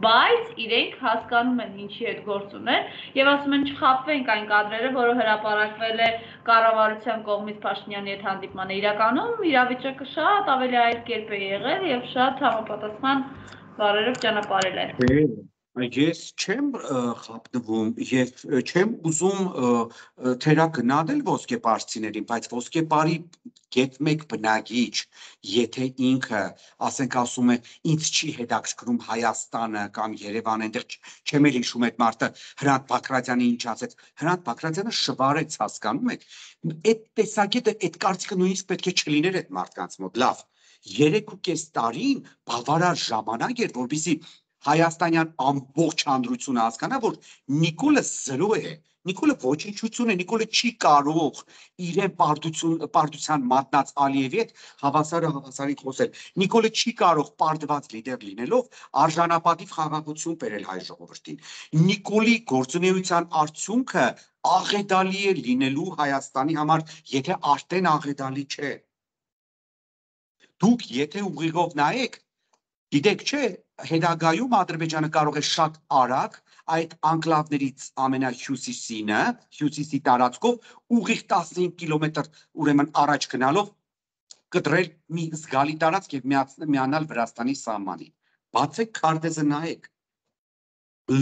բայց իրենք հասկանում են ինչի հետ գործ ունեն եւ ասում են չխաբվենք այն կադրերը, որը հրապարակվել է կառավարության կողմից Փաշինյանի հետ հանդիպմանը, իրականում իրավիճակը շատ ավելի այլ կերպ է եղել եւ շատ համապատասխան բառերով ճանապարհել է։ Ես չեմ խապնվում եւ չեմ ուզում թերագնահատել ոսկեպարցիներին, բայց ոսկեպարի Գետ մեկ բնագիչ, եթե ինքը, ասենք ասում է, ինձ չի հետաքրքրում Հայաստանը կամ Երևանը, այնտեղ չեմ էլ հիշում այդ մարդը Հրանտ Բաքրատյանի ինչ ասեց, Հրանտ Բաքրատյանը շվարեց, հասկանում եք, այդ տեսակետը, այդ կարծիքը նույնիսկ պետք է չլիներ այդ մարդկանց մոտ, լավ, 3.5 տարին բավարար ժամանակ էր, որպեսզի հայաստանյան ամբողջ հանրությունը հասկանա, որ Նիկոլը զրո է, Նիկոլը ոչնչություն է, Նիկոլը չի կարող իրեն պարտության մատնած Ալիևի հետ հավասարին խոսել, Նիկոլը չի կարող պարտված լիդեր լինելով արժանապատիվ խաղաղություն բերել հայ ժողովրդին, Նիկոլի գործունեության արդյունքը աղետալի է լինելու Հայաստանի համար, եթե արդեն աղետալի չէ, դուք եթե ուղիղով նայեք, գիտեք չէ, հետագայում Ադրբեջանը կարող է շատ արագ այդ անկլավներից ամենահյուսիսինը, հյուսիսի տարածքով ուղիղ 15 կիլոմետր ուրեմն առաջ գնալով կտրել մի զգալի տարածք եւ միանալ Վրաստանի սահմանին։ Բացեք քարտեզը նայեք։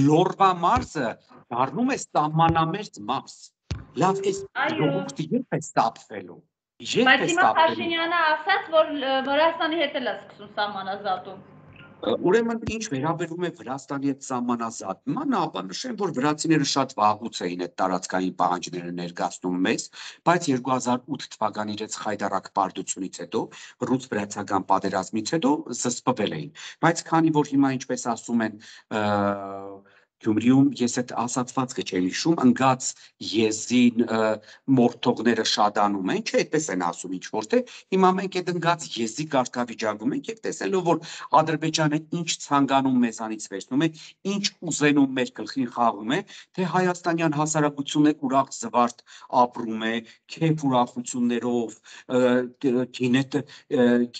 Լորվա մարզը դառնում է սահմանամերձ մարզ։ Լավ, այս ժողովուրդը երբ է ստապվելու։ Բայց հիմա Փաշինյանը ասաց, որ Վրաստանի հետ էլ է սկսում սահմանազատում։ Ուրեմն ինչ վերաբերում է Վրաստանի հետ սահմանազատման, ապա նշեմ, որ վրացիները շատ վաղուց էին այդ տարածքային պահանջները ներկայացնում մեզ, բայց 2008 թվականի իրենց խայտառակ պարտությունից հետո, ռուս-վրացական պատերազմից հետո զսպվել էին։ Բայց քանի որ հիմա ինչպես ասում են Գյումրիում ես այդ ասացվածքը չեմ հիշում, ընկած եզին մորթողները շատանում են, չէ, այդպես են ասում ինչ որ թե, հիմա մենք այդ ընկած եզի կարգավիճակում ենք եւ տեսնելով որ Ադրբեջանը ինչ ցանկանում մեզանից վերցնում է, ինչ ուզենում մեր գլխին խաղում է, թե հայաստանյան հասարակությունը ուրախ զվարթ ապրում է, քեֆ ուրախություններով,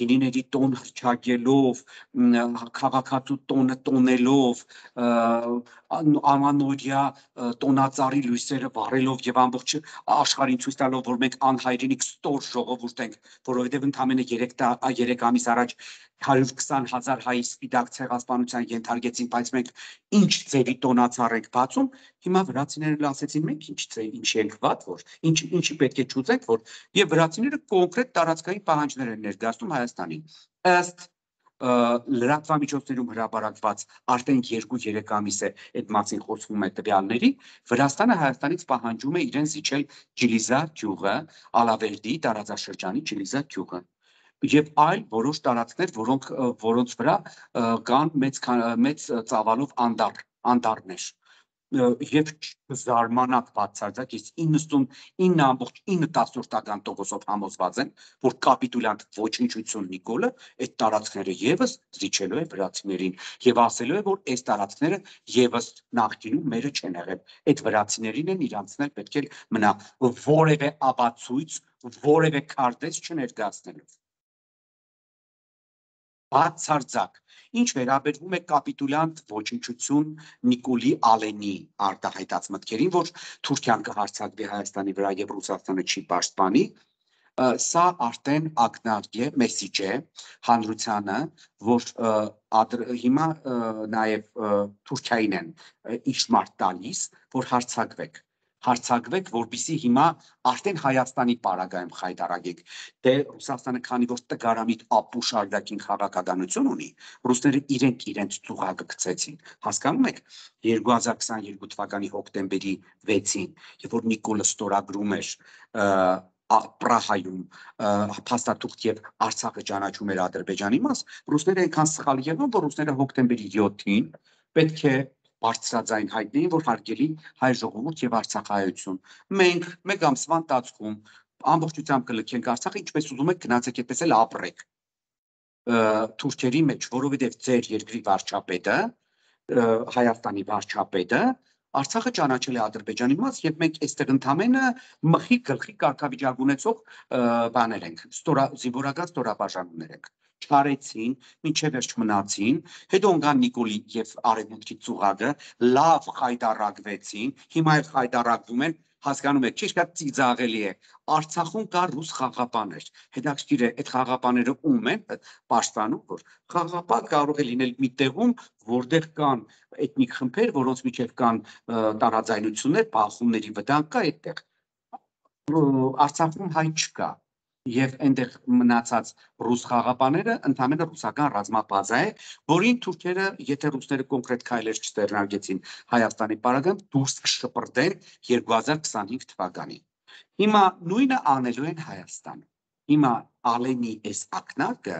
գինիների տոն հրճակելով, քաղաքացու տոնը տոնելով, ամանորյա տոնածառի լույսերը վառելով եւ ամբողջ աշխարհին ցույց տալով, որ մենք անհայրենիք ստոր ժողովուրդ ենք, որովհետեւ ընդամենը 3 ամիս առաջ 120,000 հայ սպիտակ ցեղասպանության ենթարկեցին, բայց մենք ինչ ձևի տոնածառ ենք բացում, հիմա վրացիներն ասեցին մենք ինչ ենք վատ, որ ինչի պետք է ճուծենք, որ եւ վրացիները կոնկրետ տարածքային պահանջներ են ներկայացնում Հայաստանին։ Ըստ լրատվամիջոցներում հրապարակված արդեն 2-3 ամիս է այդ մասին խոսվում է տվյալների, Վրաստանը Հայաստանից պահանջում է իրեն զիջել Ջիլիզա գյուղը, Ալավերդի տարածաշրջանի Ջիլիզա գյուղը եւ այլ որոշ տարածքներ, որոնց վրա կան մեծ ծավալով անտառներ եւ զարմանակ բացարձակ ես 99.9% համոզված եմ, որ կապիտուլյանտ ոչնչություն Նիկոլը այդ տարածքները եւս զիջելու է վրացիներին եւ ասելու է, որ այս տարածքները եւս նախկինում մերը չեն եղել։ Այդ վրացիներին են իրանցնել պետք է մնա որևէ ապացույց, որևէ քարտեզ չներկայացնելով։ Բացարձակ, ինչ վերաբերվում է կապիտուլյանտ ոչնչություն Նիկոլի Ալենի արտահայտած մտքերին, որ Թուրքիան կհարձակվի Հայաստանի վրա եւ Ռուսաստանը չի պաշտպանի, սա արդեն ակնարկ է, մեսիջ է հանրությանը, որ հիմա նաեւ Թուրքիային են իշխմար տալիս, որ հարցակվեք, որպեսզի հիմա արդեն Հայաստանի պարագայում խայտարակեք, դե Ռուսաստանը քանի որ տգարամիտ ապուշ արդակին քաղաքականություն ունի, ռուսները իրենց ծուղակը գցեցին, հասկանում եք, 2022 թվականի հոկտեմբերի 6-ին, եւ որ Նիկոլը ստորագրում էր Պրահայում փաստաթուղթ եւ Արցախը ճանաչում էր Ադրբեջանի մաս, ռուսները այնքան սխալ եղան, որ ռուսները հոկտեմբերի 7-ին պետք է բարձրաձայն հայտնեին, որ հարգելի հայ ժողովուրդ եւ արցախայություն։ Մենք մեկ ամսվա ընթացքում ամբողջությամբ կլքենք Արցախը, ինչպես ուզում եք գնացեք այդպես էլ ապրեք թուրքերի մեջ, որովհետեւ ձեր երկրի վարչապետը, Հայաստանի վարչապետը Արցախը ճանաչել է Ադրբեջանի մաս եւ մենք այստեղ ընդամենը մխի գլխի կարգավիճակ ունեցող բաներ ենք, զինվորական ստորաբաժանումներ ենք։ Չարեցին, մինչև վերջ մնացին, հետո ընկան Նիկոլի եւ Արևմուտքի ծուղակը, լավ խայտարակվեցին, հիմա էլ խայտարակվում են, հասկանում եք, ճիշտ է ծիծաղելի է։ Արցախում կա ռուս խաղապաներ։ Հետաքրքիր է, այդ խաղապաները ում են պաշտպանում, որ խաղապան կարող է լինել մի տեղում, որտեղ կան էթնիկ խմբեր, որոնց միջև կան տարաձայնություններ, բախումների վտանգ կա այդտեղ։ Արցախում հայ չկա։ Եվ այնտեղ մնացած ռուս խաղապաները ընդհանրապես ռուսական ռազմաբազա է, որին թուրքերը, եթե ռուսները կոնկրետ քայլեր չձեռնարկեցին Հայաստանի պարագան, դուրս կշպրտեն 2025 թվականին։ Հիմա նույնը անելու են Հայաստանում։ Հիմա Ալենի այս ակնարկը,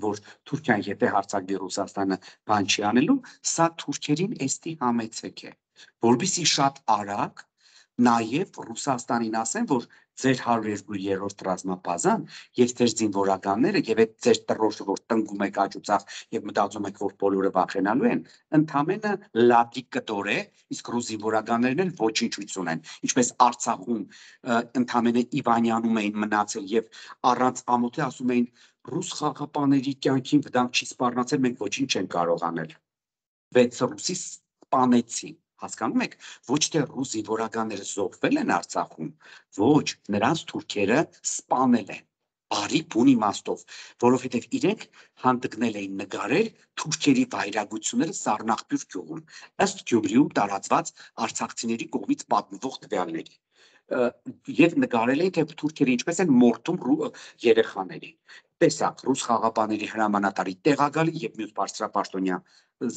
որ Թուրքիան եթե հարձակվի Ռուսաստանը բան չի անելու, սա թուրքերին էստի համեցեք է, որովհետեւ շատ արագ նաև Ռուսաստանին ասեն, որ ձեր 102-րդ ռազմաբազան եւ ձեր զինվորականները եւ այդ ձեր տրոշը, որ տնկում եք աջուձախ եւ մտածում եք, որ բոլորը վախենալու են, ընդամենը լատի կտոր է, իսկ ռուս զինվորականներն էլ ոչինչ ունեն, ինչպես Արցախում ընդամենը Իվանյանում էին մնացել եւ առանց ամոթի ասում էին ռուս խաղապաների կյանքին վտանգ չի սպառնացել, մենք ոչինչ չենք կարող անել։ 6 ռուսի սպանեցին։ Հասկանում եք, ոչ թե ռուս զինվորականները զոհվել են Արցախում, ոչ, նրանց թուրքերը սպանել են։ Բարի բուն իմաստով, որովհետև իրենք հանդգնել էին նկարել թուրքերի վայրագությունները Սառնախբյուր գյուղում, ըստ Գյումրիում տարածված արցախցիների կողմից պատմվող տվյալների։ Եվ նկարել էին, թե թուրքերը ինչպես են մորթում երեխաներին։ Տեսակ, ռուս խաղապաների հրամանատարի տեղակալի եւ մյուս բարձրապաշտոնյա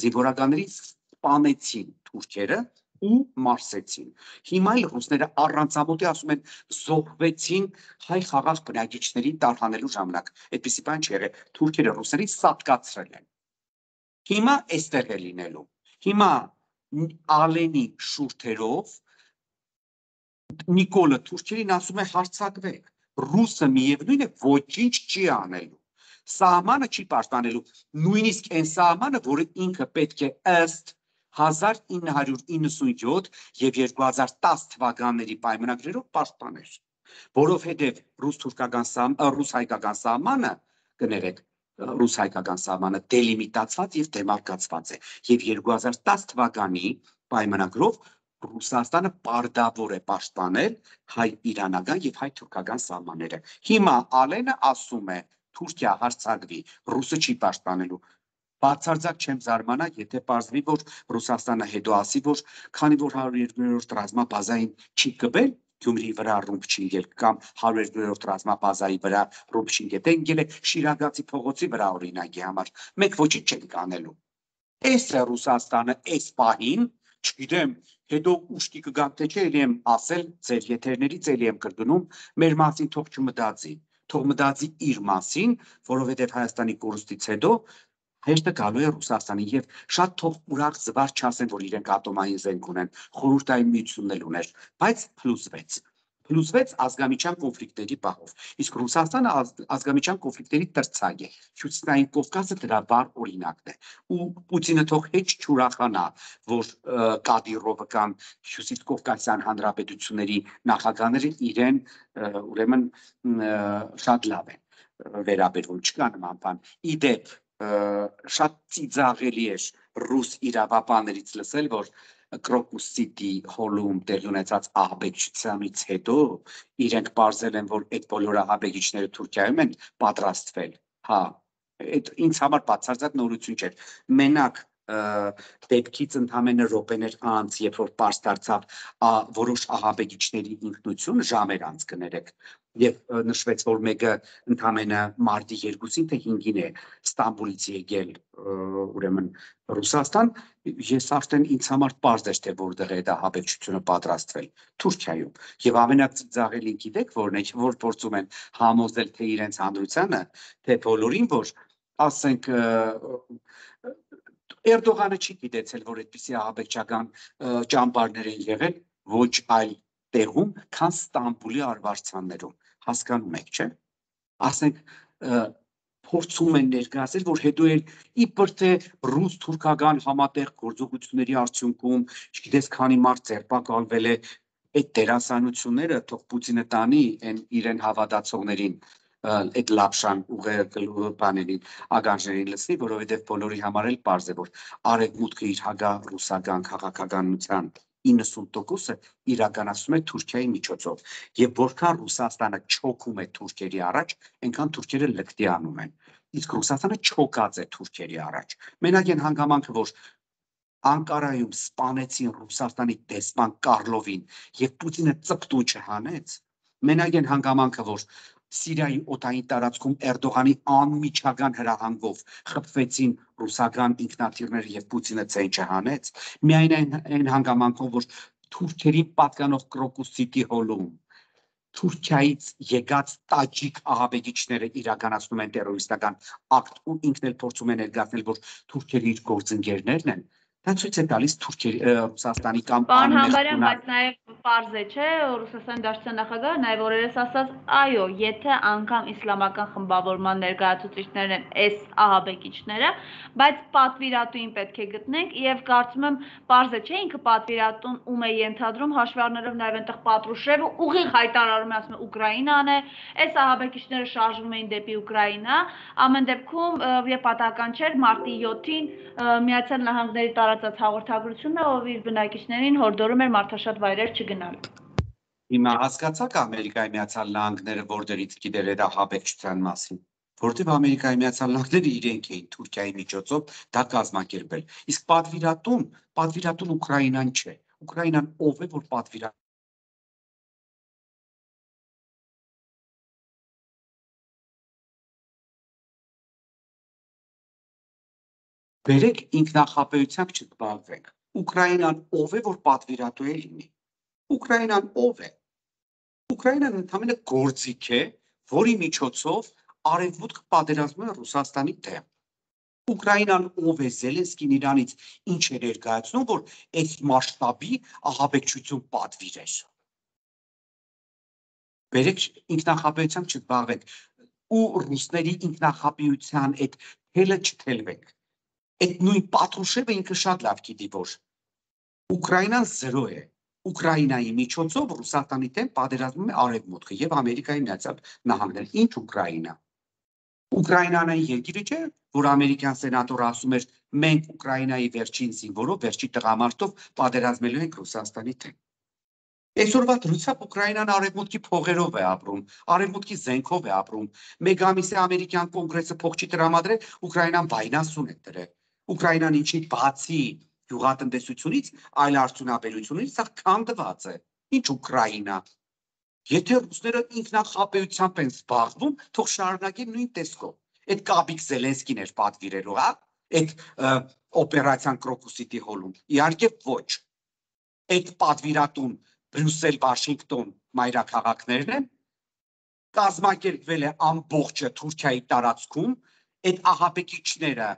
զինվորականներից սպանեցին թուրքերը ու մարսեցին։ Հիմա էլ ռուսները առանցամոթի ասում են զոհվեցին հայ խաղաղ բնակիչներին տարհանելու ժամանակ։ Այդպիսի բան չի եղել։ Թուրքերը ռուսերին սատկացրել են։ Հիմա այստեղ է լինելու։ Հիմա Ալենի շուրթերով Նիկոլը թուրքերին ասում է հարձակվեք։ Ռուսը միևնույն է ոչինչ չի անելու։ Սահմանը չի պաշտպանելու, նույնիսկ այն սահմանը, որը ինքը պետք է ըստ 1997 եւ 2010 թվականների պայմանագրերով պաշտպաներ, որովհետեւ ռուս-հայկական սահմանը, կներեք, ռուս-հայկական սահմանը դելիմիտացված եւ դեմարկացված է եւ 2010 թվականի պայմանագրով Ռուսաստանը պարտավոր է պաշտպանել հայ-իրանական եւ հայ-թուրքական սահմանները։ Հիմա Ալենը ասում է Թուրքիա հարձակվի, ռուսը չի պաշտպանելու։ Բացարձակ չեմ զարմանա, եթե պարզվի, որ Ռուսաստանը հետո ասի, որ քանի որ 102-րդ ռազմաբազային չի կբել, Գյումրիի վրա ռումբ չի ընկել կամ 102-րդ ռազմաբազայի վրա ռումբ չի ընկել, դե ընկել է Շիրագացի փողոցի վրա օրինակի համար։ Մենք ոչինչ չենք անելու։ Էս է Ռուսաստանը այս պահին, չգիտեմ, հետո ուշքի կգամ, թե չէ, ելի եմ ասել ձեր եթերներից, ելի եմ կրկնում, մեր մասին թող չմտածի, թող մտածի իր մասին, որովհետև Հայաստանի կորուստից հետո հեշտը գալու է Ռուսաստանի եւ շատ թող ուրախ զվար չասեն, որ իրենք ատոմային զենք ունեն, խորհրդային միությունն էլ ուներ, բայց փլուզվեց ազգամիջյան կոնֆլիկտների բախով։ Իսկ Ռուսաստանը ազգամիջյան կոնֆլիկտերի տրցակ է։ Հյուսիսային Կովկասը դրա վառ օրինակն է։ Ու Պուտինը թող հեչ չուրախանա, որ Կադիրովը կամ Հյուսիս Կովկասյան հանրապետությունների նախագահները իրեն ուրեմն շատ լավ են վերաբերվում, չկա նման բան։ Իդեպ շատ ծիծաղելի էր ռուս իրավապաններից լսել, որ Կրոկուս Սիթի հոլում տեղի ունեցած ահաբեկչությանից հետո իրենք պարզել են, որ այդ բոլոր ահաբեկիչները Թուրքիայում են պատրաստվել։ Հա, այդ ինձ համար բացարձակ նորություն չէր։ Մենակ դեպքից ընդամենը րոպեներ անց, երբ որ պարզ դարձավ որոշ ահաբեկիչների ինքնություն ժամեր անց կներեք, եւ նշվեց, որ մեկը ընդամենը մարտի 2-ին թե 5-ին է Ստամբուլից եկել ուրեմն Ռուսաստան, ես արդեն ինձ համար պարզ էր, թե որտեղ է դա ահաբեկչությունը պատրաստվել Թուրքիայում։ Եվ ամենածիծաղելին գիտեք որն է, որ փորձում են համոզել թե իրենց հանրությանը, թե բոլորին, որ ասենք Էրդողանը չի գիտեցել, որ այդպիսի ահաբեկչական ճամբարներ են եղել ոչ այլ տեղում, քան Ստամբուլի արվարձաններում, հասկանում եք, չէ՞։ Ասենք փորձում են ներկայացնել, որ հետո էլ իբր թե ռուս-թուրքական համատեղ գործողությունների արդյունքում, չգիտես քանի մարդ ձերբակալվել է, այդ դերասանությունները թող Պուտինը տանի իրեն հավատացողներին, այդ լապշան ուղղել բաներին, ագանջներին լցնի, որովհետև բոլորի համար էլ պարզ է, որ արևմուտքը իր հակառուսական քաղաքականության 90%-ը իրականացում է Թուրքիայի միջոցով, եւ որքան Ռուսաստանը չոքում է թուրքերի առաջ, այնքան թուրքերը լկտի անում են, իսկ Ռուսաստանը չոկած է թուրքերի առաջ։ Մենակ այն հանգամանքը, որ Անկարայում սպանեցին Ռուսաստանի դեսպան Կարլովին եւ Պուտինը ծպտու չհանեց, մենակ այն հանգամանքը, որ Սիրիայի օդային տարածքում Էրդողանի անմիջական հրահանգով խփվեցին ռուսական ինքնաթիռները եւ Պուտինը ցեն չհանեց, միայն այն հանգամանքով, որ թուրքերին պատկանող կրոկուսիտի հոլում Թուրքիայից եկած տաջիկ ահաբեկիչները իրականացնում են տերորիստական ակտ ու ինքն էլ փորձում է ներկայացնել, որ թուրքերը իր գործընկերներն են, դա ցույց է տալիս Ռուսաստանի կամ Պարոն Համբարյան, բայց նաև պարզ է, չէ, Ռուսաստանի Դաշնության նախագահը նաև օրերս ասաց, այո, եթե անգամ իսլամական խմբավորման ներկայացուցիչներն են այս ահաբեկիչները, բայց պատվիրատուին պետք է գտնենք եւ կարծում եմ պարզ է, չէ, ինքը պատվիրատուն ում է ենթադրում, հաշվի առնելով նաև այնտեղ Պատրուշևը ուղիղ հայտարարում է, ասում է Ուկրաինան է, այս ահաբեկիչները շարժվում էին դեպի Ուկրաինա, ամեն դեպքում եւ պատահական չէր մարտի 7-ին Միացյալ Նահանգների տարածած հաղորդագրությունը, ով իր բնակիչներին հորդորում էր մարդաշատ վայրեր չգնալ։ Հիմա հասկացաք Ամերիկայի Միացյալ Նահանգները որտեղից գիտեր այդ ահաբեկչության մասին, որտեղ Ամերիկայի Միացյալ Նահանգները իրենք էին Թուրքիայի միջոցով դա կազմակերպել։ Իսկ պատվիրատուն Ուկրաինան չէ։ Ուկրաինան ով է, որ պատվիրատուն Բերեք ինքնախապեյությամբ չզբաղվենք։ Ուկրաինան ով է, որ պատվիրատու է լինի։ Ուկրաինան ով է։ Ուկրաինան ընդհանրապես գործիք է, որի միջոցով արևմուտքը պատերազմում է Ռուսաստանի դեմ։ Ուկրաինան ով է, Զելենսկին իրանից ինչ է ներկայացնում, որ այս մասշտաբի ահաբեկչություն պատվիրեր։ Բերեք ինքնախապեյությամբ չզբաղվենք ու ռուսների ինքնախապեյության այդ թելը չթելվենք։ Այդ նույն Պատրուշևը ինքը շատ լավ գիտի, որ Ուկրաինան զրո է։ Ուկրաինայի միջոցով Ռուսաստանի դեմ պատերազմում է արևմուտքը եւ Ամերիկայի Միացյալ Նահանգները։ Ինչ Ուկրաինա։ Ուկրաինան այն երկիրը չէ, որ ամերիկյան սենատորը ասում էր մենք Ուկրաինայի վերջին զինվորով, վերջի տղամարդով պատերազմելու ենք Ռուսաստանի դեմ։ Այսօրվա դրությամբ Ուկրաինան արևմուտքի փողերով է ապրում, արևմուտքի զենքով է ապրում։ Մեկ ամիս է ամերիկյան կոնգրեսը փող չի տրամադրել, Ուկրաինան վայնասուն է դրել։ Ուկրաինան ինչի բացի գյուղատնտեսությունից, այլ արդյունաբերությունից սա քանդված է։ Ինչ Ուկրաինա։ Եթե ռուսները ինքնախապեյությամբ են զբաղվում, թող շարունակեն նույն տեսքով։ Այդ Կաբիկ Զելենսկին էր պատվիրելու, հա, այդ օպերացիան Կրոկուսիտի հոլում։ Իհարկե ոչ։ Այդ պատվիրատուն Բրյուսել, Վաշինգտոն մայրաքաղաքներն են, կազմակերպվել է ամբողջը Թուրքիայի տարածքում, այդ ահաբեկիչները,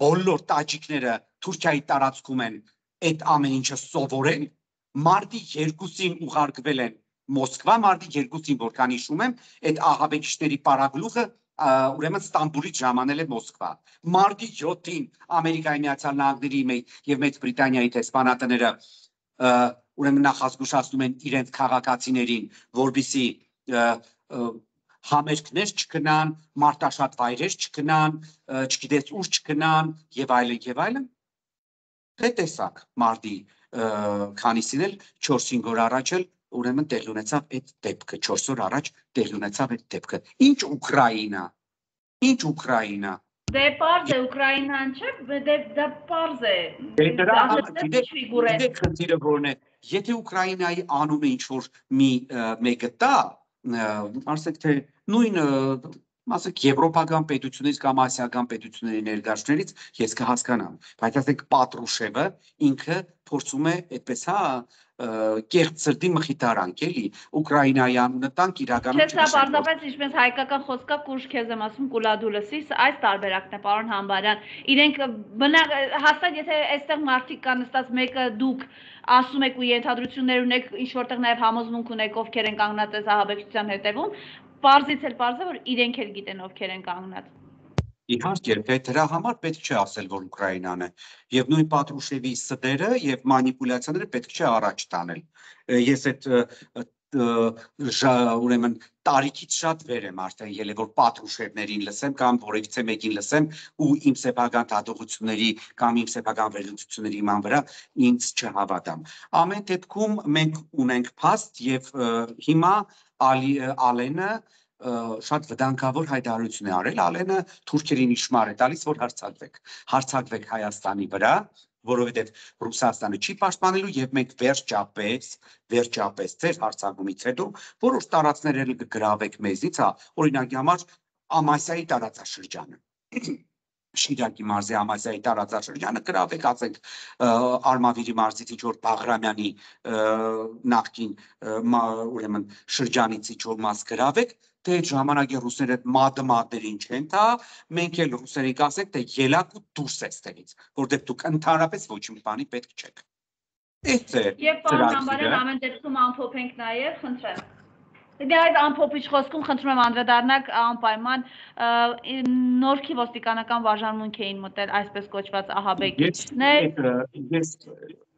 բոլոր տաջիկները Թուրքիայի տարածքում են այդ ամեն ինչը սովորել, մարտի 2-ին ուղարկվել են Մոսկվա, մարտի 2-ին, որքան հիշում եմ, այդ ահաբեկիչների պարագլուխը ուրեմն Ստամբուլից ժամանել է Մոսկվա։ Մարտի 7-ին Ամերիկայի Միացյալ Նահանգների եւ Մեծ Բրիտանիայի դեսպանատները ուրեմն նախազգուշացնում են իրենց քաղաքացիներին, որբիսի համերգներ չգնան, մարտաշատ վայրեր չգնան, չգիտես ուր չգնան եւ այլն։ Թե տեսակ մարտի քանիսին էլ 4-5 օր առաջ էլ ուրեմն տեղի ունեցավ այդ դեպքը, 4 օր առաջ տեղի ունեցավ այդ դեպքը։ Ինչ Ուկրաինա։ Ինչ Ուկրաինա։ Դե պարզ է Ուկրաինան չէ, դա պարզ է։ Գիտեք խնդիրը որն է, եթե Ուկրաինայի անունը ինչ որ մեկը տա, ասենք թե նույն ասենք եվրոպական պետությունից կամ ասիական պետությունների ներկայացուցիչներից ես կհասկանամ, բայց ասենք Պատրուշևը ինքը փորձում է այդպես հա կեղծ սրտի մխիթարանք էլի Ուկրաինայի անունը տանք իրականում չէ, սա պարզապես ինչպես հայկական խոսքա կուշ քեզ եմ ասում կուլադուլսի, այս տարբերակն է պարոն Համբարյան, իրենք հաստատ եթե այստեղ մարդիկ կան նստած մեկը դուք ասում եք ու ենթադրություններ ունեք, ինչ որտեղ նաև համոզմունք ունեք ովքեր են կանգնած այս ահաբեկչության հետևում, պարզից էլ պարզ է որ իրենք էլ գիտեն ովքեր են կանգնած։ Իհարկե, դրա համար պետք չէ ասել, որ Ուկրաինան է, եւ նույն Պատրուշևի սդերը եւ մանիպուլյացիաները պետք չէ առաջ տանել։ Ես այդ ուրեմն տարիքից շատ վեր եմ արդեն ելել, որ Պատրուշևներին լսեմ կամ որևիցե մեկին լսեմ ու իմ սեփական դատողությունների կամ իմ սեփական վերլուծությունների իման վրա ինձ չհավատամ։ Ամեն դեպքում մենք ունենք փաստ եւ հիմա Ալենը շատ վտանգավոր հայտարարություն է արել, Ալենը թուրքերին իշմար է տալիս, որ հարձակվեք Հայաստանի վրա, որովհետև Ռուսաստանը չի պաշտպանելու եւ մենք վերջապես ձեր հարցակումից հետո որոշ տարածքներ կգրավեք մեզից, օրինակի համար Ամասիայի տարածաշրջանը Շիրակի մարզի Ամասիայի տարածաշրջանը գրավեք, ասենք Արմավիրի մարզից ինչ որ Բաղրամյանի նախկին ուրեմն շրջանից ինչ որ մաս գրավեք, թե այդ ժամանակի ռուսները մադերին չեն թա, մենք էլ ռուսերին կասենք, թե ելակ ու դուրս էստեղից, որտեղ դուք ընդհանրապես ոչ մի բանի պետք չեք։ Եվ պարոն Համբարյան, ամեն դեպքում ամփոփենք նաև, խնդրեմ։ Դե այդ ամփոփիչ խոսքում խնդրում եմ անդրադառնաք անպայման Նորքի ոստիկանական վարժանմունք էին մտել այսպես կոչված ահաբեկիչներ։ Ես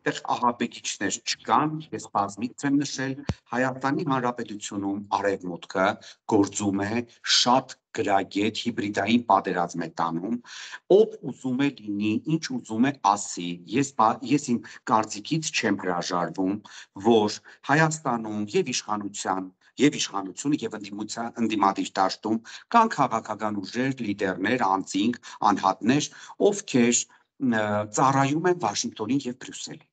այդտեղ ահաբեկիչներ չկան, ես բազմիցս եմ նշել, Հայաստանի Հանրապետությունում արևմուտքը գործում է շատ գրագետ հիբրիդային պատերազմ է տանում, ով ուզում է լինի, ինչ ուզում է ասի, ես իմ կարծիքից չեմ հրաժարվում, որ Հայաստանում եւ իշխանությունը եւ ընդդիմադիր դաշտում կան քաղաքական ուժեր, լիդերներ, անձինք, անհատներ, ովքեր ծառայում են Վաշինգտոնին եւ Բրյուսելին։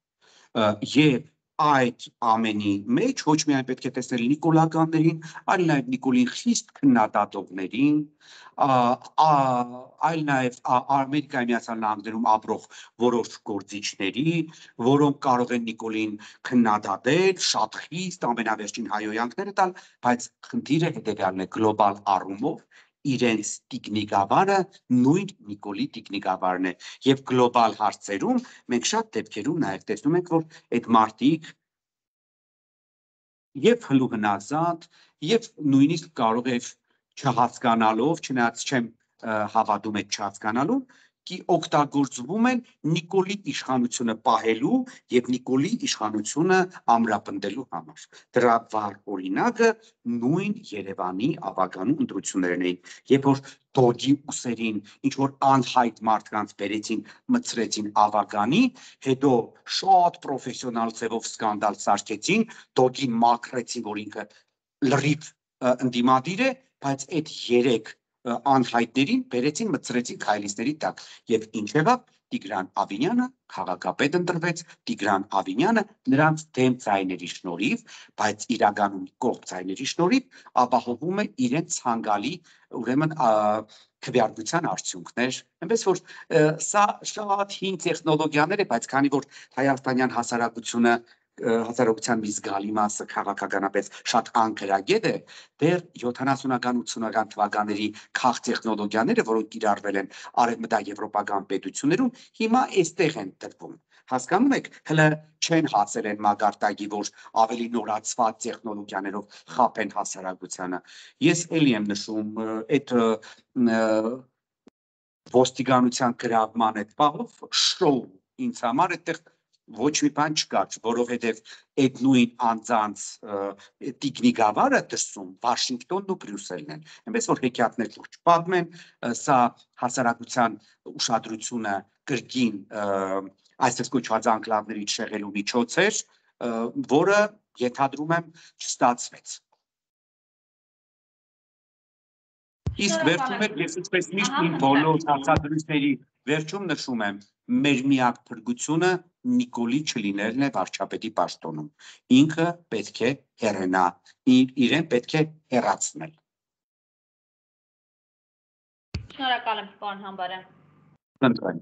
Եվ այդ ամենի մեջ ոչ միայն պետք է տեսնել նիկոլականներին, այլ նաև Նիկոլին խիստ քննադատողներին, այլ նաև Ամերիկայի Միացյալ Նահանգներում ապրող որոշ գործիչների, որոնք կարող են Նիկոլին քննադատել, շատ խիստ ամենավերջին հայհոյանքները տալ, բայց խնդիրը հետևյալն է գլոբալ առումով իրենց տիկնիկավարը նույն Նիկոլի տիկնիկավարն է եւ գլոբալ հարցերում մենք շատ դեպքերում նաեւ տեսնում ենք որ այդ մարդիկ եւ հլուհնազատ եւ նույնիսկ կարող է չհասկանալով չնայած չեմ հավատում այդ չհասկանալու օգտագործվում են Նիկոլի իշխանությունը պահելու եւ Նիկոլի իշխանությունը ամրապնդելու համար։ Դրա վառ օրինակը նույն Երևանի ավագանու ընտրություններն էին, երբ որ Դոգի ուսերին ինչ որ անհայտ մարդկանց բերեցին, մցրեցին ավագանի, հետո շատ պրոֆեսիոնալ ձևով սկանդալ սարքեցին, Դոգին մաքրեցին, որ ինքը լրիվ ընդդիմադիր է, բայց այդ 3 անհայտներին բերեցին մցրեցին քայլիստերի տակ եւ ինչ եղավ Տիգրան Ավինյանը քաղաքապետ ընտրվեց Տիգրան Ավինյանը նրանց դեմ ցայների շնորհիվ բայց իրականում կողմ ցայների շնորհիվ ապահովում է իրենց ցանկալի ուրեմն քվեարկության արդյունքներ այնպես որ սա շատ հին տեխնոլոգիաներ է բայց քանի որ հայաստանյան հասարակության մի զգալի մասը քաղաքականապես շատ անկրագետ է, դեռ 70-ական 80-ական թվականների քաղ տեխնոլոգիաները, որոնք կիրառվել են արևմտաեվրոպական պետություններում, հիմա այստեղ են տրվում։ Հասկանում եք, հələ չեն հասել են մագարտակի, որ ավելի նորացված տեխնոլոգիաներով խափեն հասարակությանը։ Ես էլի եմ նշում, այդ ոստիկանության գրավման այդ պահով շոու ինձ համար այդտեղ ոչ մի բան չկար, որովհետև այդ նույն անձանց տիկնիկավարը դրսում Վաշինգտոնն ու Բրյուսելն են։ Այնպես որ հեքիաթներ լուրջ պատմեն, սա հասարակության ուշադրությունը կրկին այսպես կոչված անկլավներից շեղելու միջոց էր, որը ենթադրում եմ չստացվեց։ Իսկ վերջում ես ինչպես միշտ իմ բոլոր հարցադրույցների վերջում նշում եմ մեր միակ փրկությունը Նիկոլի չլինելն է վարչապետի պաշտոնում։ Ինքը պետք է հեռանա, իրեն պետք է հեռացնել։ Շնորհակալ եմ, պարոն Համբարյան։ Խնդրեմ։